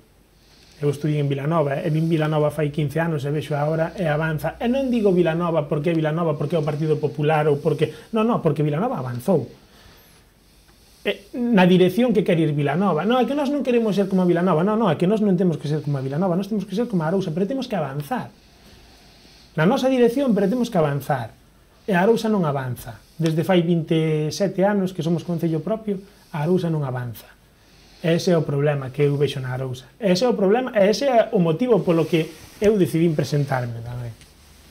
Eu estudiei en Vilanova, e vin Vilanova fai quince anos, e vexo agora, e avanza. E non digo Vilanova porque é Vilanova, porque é o Partido Popular, ou porque... Non, non, porque Vilanova avanzou. E, na dirección que quer ir Vilanova. Non, é que nós non queremos ser como a Vilanova, non, non, é que nós non temos que ser como a Vilanova, nós temos que ser como a Arousa, pero temos que avanzar. Na nosa dirección, pero temos que avanzar. E a Arousa non avanza. Desde fai vinte e sete anos que somos concello propio, a Arousa non avanza. Ese é o problema que eu vexo na Arousa. Ese é o problema, ese é o motivo polo que eu decidín presentarme tamén.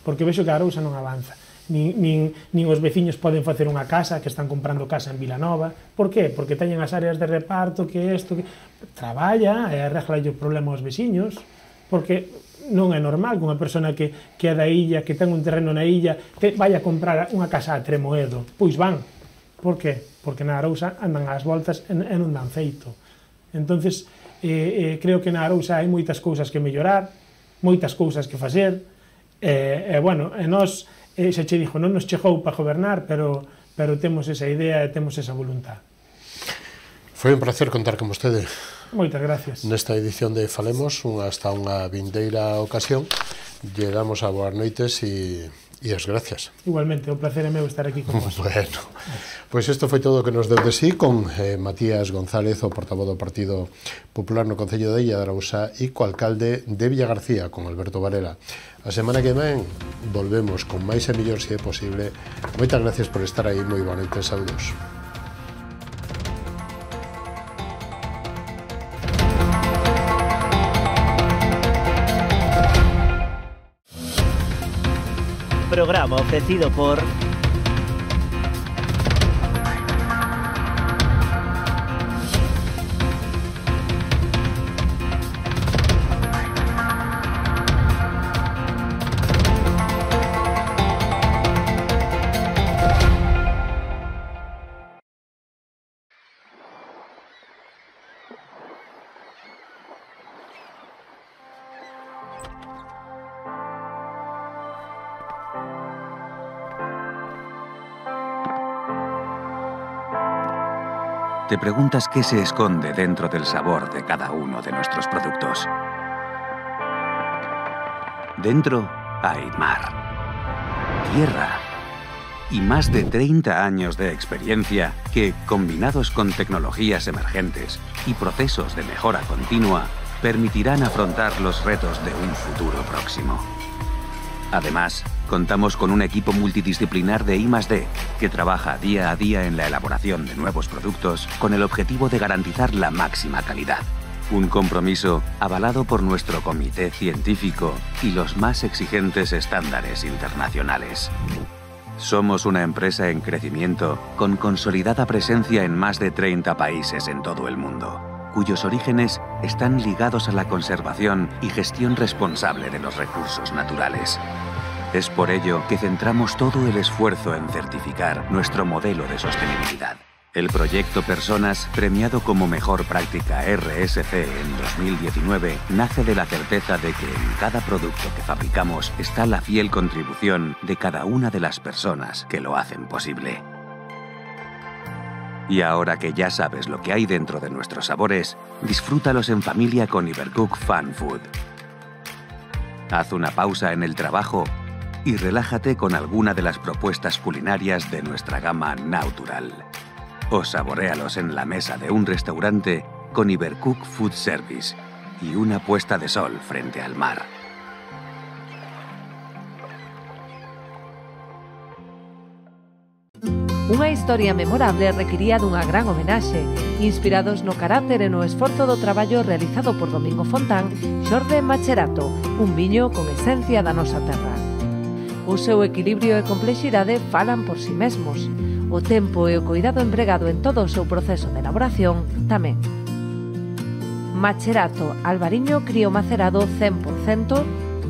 Porque vexo que a Arousa non avanza. Nin, nin, nin os veciños poden facer unha casa, que están comprando casa en Vilanova. Por qué? Porque teñen as áreas de reparto, que isto, que... Traballa e arregla o problema aos veciños. Porque non é normal que unha persona que, que é da illa, que ten un terreno na illa, te vaya a comprar unha casa a Tremoedo. Pois van. Por qué? Porque na Arousa andan ás voltas e non dan feito. Entonces, eh, eh, creo que na Arousa hai moitas cousas que mellorar, moitas cousas que facer, e, eh, bueno, e nós, eh, xa che dixo, non nos chegou para gobernar, pero, pero temos esa idea e temos esa voluntad. Foi un placer contar con vostede. Moitas gracias. Nesta edición de Falemos, unha, hasta unha vindeira ocasión, lle damos a boas noites e... E as gracias. Igualmente, o placer é meu estar aquí con vos. Bueno, pois isto foi todo o que nos deu de sí con eh, Matías González, o portavoz do Partido Popular no Concello de Illa de Arousa, e co alcalde de Villagarcía, con Alberto Varela. A semana que ven volvemos con máis e mellor se é posible. Moitas gracias por estar aí, moi boa noite, saúdos. Programa ofrecido por Te preguntas qué se esconde dentro del sabor de cada uno de nuestros productos. Dentro hay mar, tierra y más de treinta años de experiencia que, combinados con tecnologías emergentes y procesos de mejora continua, permitirán afrontar los retos de un futuro próximo. Además, contamos con un equipo multidisciplinar de I más D que trabaja día a día en la elaboración de nuevos productos con el objetivo de garantizar la máxima calidad. Un compromiso avalado por nuestro comité científico y los más exigentes estándares internacionales. Somos una empresa en crecimiento con consolidada presencia en más de treinta países en todo el mundo, cuyos orígenes están ligados a la conservación y gestión responsable de los recursos naturales. Es por ello que centramos todo el esfuerzo en certificar nuestro modelo de sostenibilidad. El proyecto Personas, premiado como mejor práctica R S C en dos mil diecinueve, nace de la certeza de que en cada producto que fabricamos está la fiel contribución de cada una de las personas que lo hacen posible. Y ahora que ya sabes lo que hay dentro de nuestros sabores, disfrútalos en familia con Ibercook Fun Food. Haz una pausa en el trabajo y relájate con alguna de las propuestas culinarias de nuestra gama Natural. O saboréalos en la mesa de un restaurante con Ibercook Food Service y una puesta de sol frente al mar. Unha historia memorable requiría dunha gran homenaxe. Inspirados no carácter e no esforzo do traballo realizado por Domingo Fontán, xorde Macherato, un viño con esencia da nosa terra. O seu equilibrio e complexidade falan por si mesmos. O tempo e o cuidado empregado en todo o seu proceso de elaboración tamén. Macherato Albariño Crío Macerado cen por cento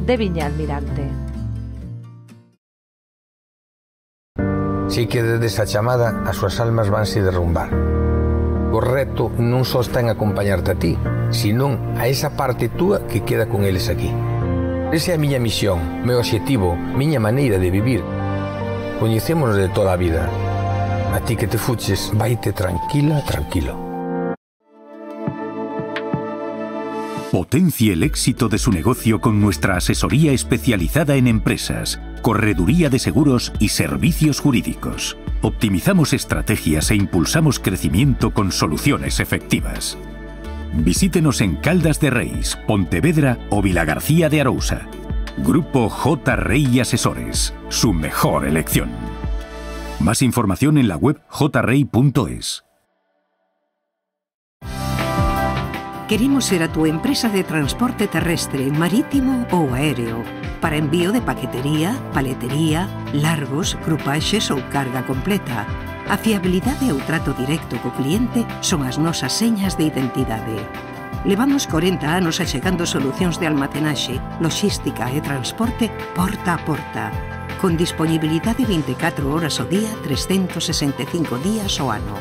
de Viña Almirante. Si que desde esa chamada as súas almas vanse derrumbar. O reto non só está en acompañarte a ti, senón a esa parte túa que queda con eles aquí. Esa é a miña misión, meu obxectivo, miña maneira de vivir. Coñecémonos de toda a vida. A ti que te fuches, vaite tranquila, tranquilo. Potencie el éxito de su negocio con nuestra asesoría especializada en empresas, correduría de seguros y servicios jurídicos. Optimizamos estrategias e impulsamos crecimiento con soluciones efectivas. Visítenos en Caldas de Reis, Pontevedra o Vilagarcía de Arousa. Grupo J. Rey Asesores, su mejor elección. Más información en la web j rey punto es. Queremos ser a tu empresa de transporte terrestre, marítimo ou aéreo para envío de paquetería, paletería, largos, crupaxes ou carga completa. A fiabilidade e o trato directo co cliente son as nosas señas de identidade. Levamos corenta anos achegando solucións de almacenaxe, logística e transporte porta a porta, con disponibilidade vinte e catro horas ao día, trescentos sesenta e cinco días ao ano.